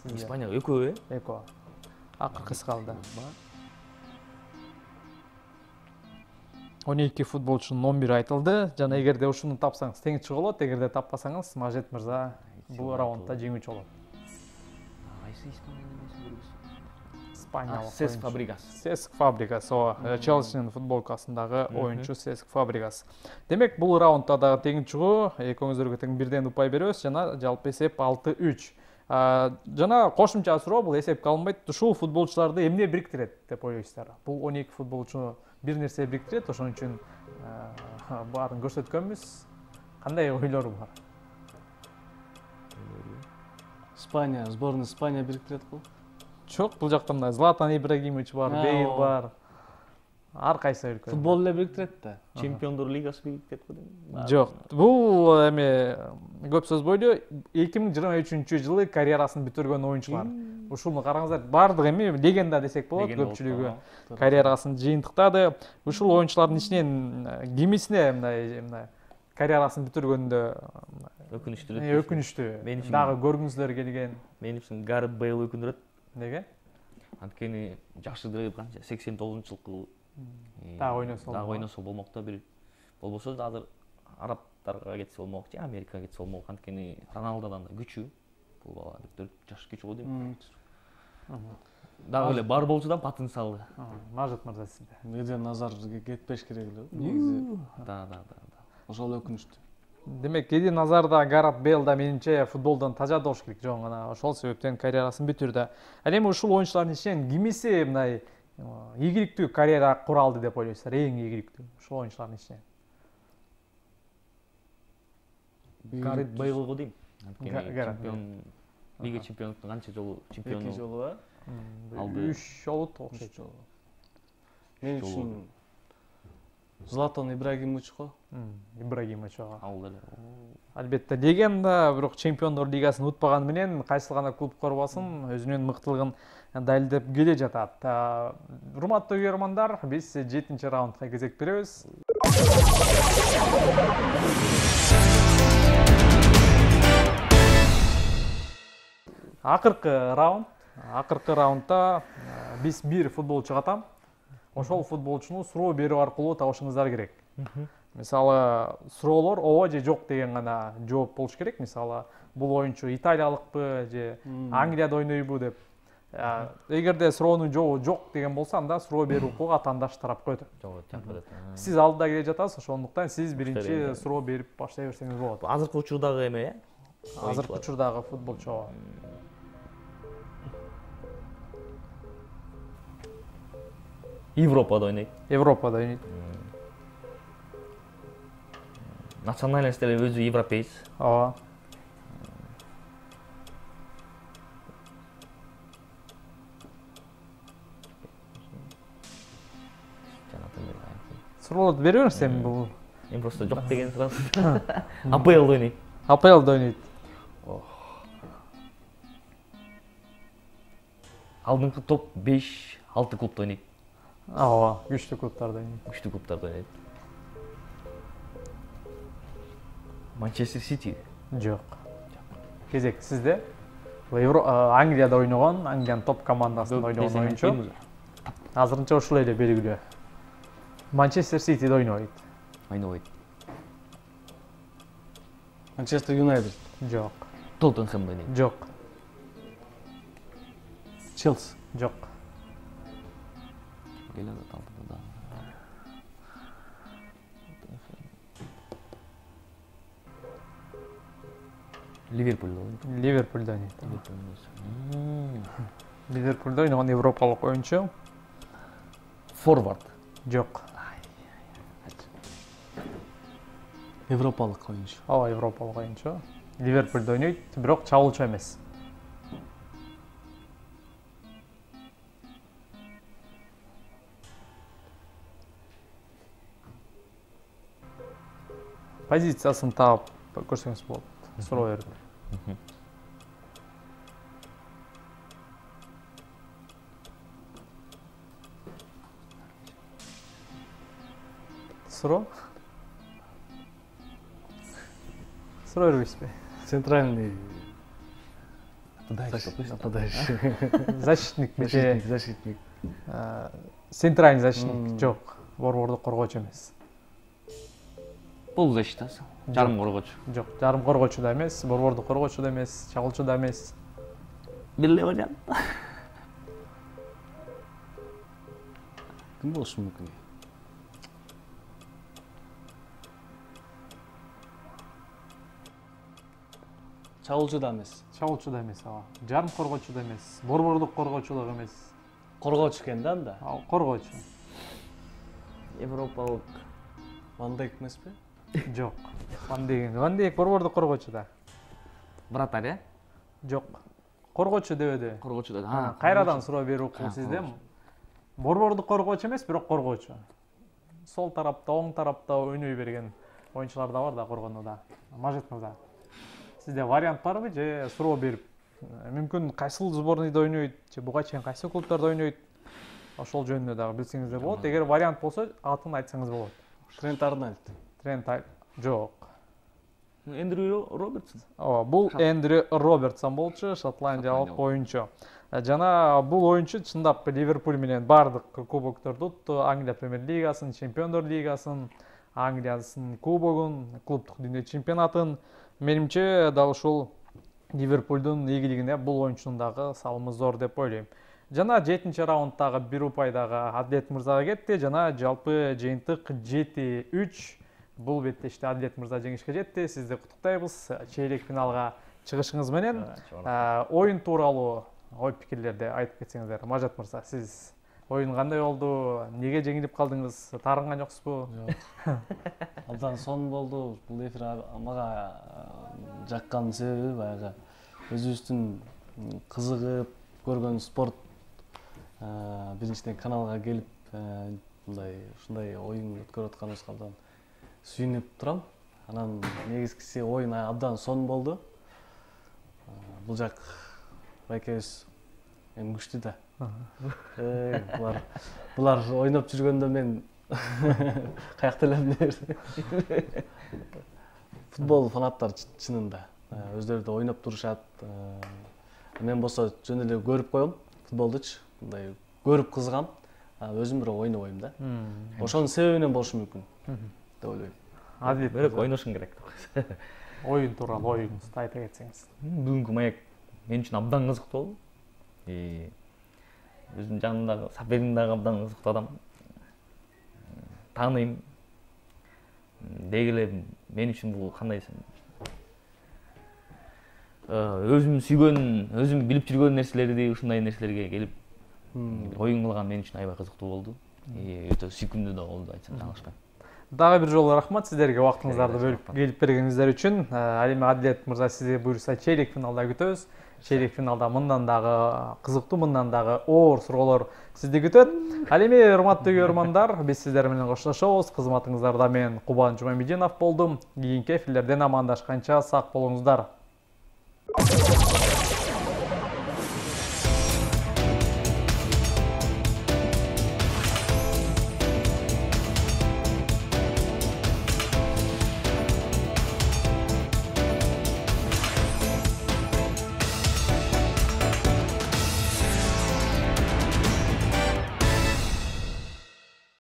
Испания экөө э? Экөө. Акыркысы калды. он эки футболчунун он бир айтылды. Жана эгерде ушуну тапсаңыз тең чыга болот, эгерде таппасаңыз Мажет мырза бул раундда жеңүүчү болот. Кайсы Испания эмеси көргүз? Испаниялык. Сеск Фабригас. Сеск Фабригас, ооба. Челсинин футболкасындагы оюнчу Сеск Фабригас. Демек, бул раундда дагы тең чыгуу, экөөңүздөргө тең бирден упай беребиз жана жалпы эсеп алты үч. Жана кошумча суроо, бул эсепке алынбайт. Ушул футболчуларды эмне бириктирет деп ойлойсуздар? Бул он эки футболчуну бир нерсе бириктирет, ошон үчүн баарын көрсөткөнбүз. Кандай ойлору бар? Испания, сборная Испания бириктирет го. Жок, бул жакта мына Златан Ибрагимович бар, Бейл бар. Ар кайсы өлкө. Футбол эле бириктирет да. Чемпиондор лигасы бириктирет го дейм. Жок, бул эме көп сөз бойлу эки миң жыйырма үчүнчү жылы карьерасын бүтүргөн оюнчулар. Ушуну караңыздар, бардыгы эми легенда десек болот, көпчүлүгү карьерасын жыйынтыктады. Ушул оюнчулардын ичинен кимисине мындай мындай карьерасын бүтүргөндө өкүнүчтүү. Өкүнүчтүү. Дагы көргүңүздөр келген. Мен үчүн Гарет Бейл өкүндүрөт. Неге? Анткени жакшы канча сексен тогузунчу жылкы дагы ойносо. Дагы ойносо болмок да бир. Болбосо да азыр арабтарга кетсе болмок, же Америкага кетсе болмок. Анткени Роналдодан да күчүү. Бул бала төрт жаш күчүү го дейм. Дагы эле бар болчудан потенциалы. Мажет мырза сизде. Эден назар кетпеш керек эле. Негизи. Да, да, да, да. Ошол өкүнүчтүү. Демек, Эден Азарда, Гарет Бейл да менимче футболдон тажа болуш керек. Жок, гана ошол себептен карьерасын бүтүрдү. Ал эми ушул оюнчулардын ичинен кимиси мындай ийгиликтүү карьера кура алды деп ойлойсуздар? Эң ийгиликтүү ушул оюнчулардын ичинен. Гарет Бейл го дейм. Чемпион, Лига чемпиондуктун канча жолу чемпиону? эки жолу ба? Алды. үч жолу окшойт. Мен үчүн Златан Ибрагимович го. Ибрагимович ага. Ал эле. Албетте, легенда, бирок чемпиондор лигасын утпаганы менен кайсыл гана клуб корбасын, өзүнүн мыктылыгын далилдеп келе жатат. Урматтуу көрөрмандар, биз жетинчи раундга кезек беребиз. Акыркы раунд. Акыркы раундда биз бир футболчуга атам. Ошол футболчуну суроо берүү аркылуу табышыңыздар керек. Мисалы, суроолор ооба же жок деген гана жооп болуш керек. Мисалы, бул оюнчу италиялыкпы же Англияда ойнойбу деп. Эгерде суроонун жообу жок деген болсо, анда суроо берүү укугу атаандаш тарапка өтөт. Жок, чакырат. Сиз алдыда келе жатасыз, ошондуктан сиз биринчи суроо берип баштай берсеңиз болот. Азыркы учурдагы эме, э? Азыркы учурдагы футболчу. Европада ойнойт. Европада ойнойт. Национальностьтери өзү европеец. Ооба. Суроолорду бере бериңиз эми бул. Эми просто жок деген сразу. АПЛда ойнойт. АПЛда ойнойт. Алдыңкы топ беш алты клубта ойнойт. Ооба, күчтүү клубтарда ойнойт. Күчтүү клубтарда ойнойт. Манчестер Сити. Жок. Кезек сизде. Англияда ойногон, Англиянын топ командасында ойногон оюнчу. Азырынча ушул эле белгилүү. Манчестер Ситиде ойнойт. Ойнойт. Манчестер Юнайтед. Жок. Тоттенхэм ойнойт. Жок. Челси. Жок. Ливерпулда ойнойт. Ливерпулда ойнойт. Ливерпулда ойногон европалык оюнчу. Форвард. Жок. Европалык оюнчу. Ооба, европалык оюнчу. Ливерпулда ойнойт, бирок чабуулчу эмес. Позициясын таап көрсөңүз болот. Суроо берип. Суроо? суроо бербейсизби? Центральный Нападающий. Защитник защитник, бите. защитник. Центральный защитник жок. Борбордук коргоочу эмес. Бул защитасы. Жарым коргоочу. Жок, жарым коргоочу да эмес, борбордук коргоочу да эмес, чагылчу да эмес. Билле вариант. Ким болушу мүмкүн? Чагылчу да эмес. Чагылчу да эмес, ооба. Жарым коргоочу да эмес, борбордук коргоочу да эмес. Коргоочу экен да анда. Ал коргоочу. Европалык. Ван Дейк эмеспи? Жок. Ван Дейк, Ван Дейк борбордук коргоочу да. Вратарь, э? Жок. Коргоочу дебеди. Коргоочу да. Ha, Кайрадан суроо берүү укугу Ha, сизде. коргоочу. Борбордук коргоочу эмес, бирок коргоочу. Сол тарапта, оң тарапта ойной берген оюнчулар да бар да коргонууда. Мажит мырза. Сизде вариант барбы же суроо берип, мүмкүн кайсыл сборныйда ойнойт, же буга чейин кайсы клубтарда ойнойт? Ошол жөнүндө дагы билсеңиз болот. Эгер вариант болсо, атын айтсаңыз болот. Трент Арнольд. Трент жок. Эндрю Робертсон. Ооба, бул Эндрю Робертсон болчу, шотландиялык оюнчу. Жана бул оюнчу чындап Ливерпуль менен бардык кубокторду утту, Англия премьер-лигасын, Чемпиондор лигасын, Англиясын кубогун, клубдук дүйнө чемпионатын. Менимче дал ушул Ливерпулдун ийгилигине бул оюнчунун дагы салымы зор деп ойлойм. Жана жетинчи раунддагы бир упай дагы Адлет мырзага кетти. Жана жалпы жыйынтык жети үч. Бул беттеште Адлет мырза жеңишке жетти. Сизди куттуктайбыз чейрек финалга чыгышыңыз менен. Оюн тууралуу ой пикирлерди айтып кетсеңиздер. Мажат мырза, сиз оюн кандай болду? Неге жеңилип калдыңыз? Таарынган жоксузбу? Жок. Абдан сонун болду. Бул эфир мага жаккан себеби баягы өзүбүздүн кызыгып көргөн спорт биринчиден каналга келип мындай ушундай оюн өткөрүп атканыбызга абдан сүйүнүп турам. Анан негизгиси оюн абдан сонун болду. Бул жак байкебиз эми күчтүү да. Булар булар ойноп жүргөндө мен каякта элем деп. Футбол фанаттар чынында өздөрү да ойноп турушат. Мен болсо жөн эле көрүп коем футболдучу. Мындай көрүп кызыгам. Өзүм бирок ойнобойм да. Ошонун себебинен болушу мүмкүн деп ойлойм. Адил Бирок ойношуң керек. Оюн тууралуу оюңузду айта кетсеңиз. Бүгүнкү маяк мен үчүн абдан кызыктуу болду. И өзүмдүн жанымдагы соперим дагы абдан кызыктуу адам. Тааныйм. Деги эле мен үчүн бул кандай десем, өзүм сүйгөн, өзүм билип жүргөн нерселерди ушундай нерселерге келип оюн кылган мен үчүн аябай кызыктуу болду. И өтө сүйкүмдүү да болду, айтсам жаңылышпайм. Дагы бир жолу рахмат сиздерге убактыңыздарды бөлүп келип бергениңиздер үчүн. Ал эми Адлет мырза, сизди буюрса чейрек финалда күтөбүз. Чейрек финалда мындан дагы кызыктуу, мындан дагы оор суроолор сизди күтөт. Ал эми урматтуу көрөрмандар, биз сиздер менен коштошобуз. Кызматыңыздарда мен Кубан Жумамединов болдум. Кийинки эфирлерден амандашканча сак болуңуздар.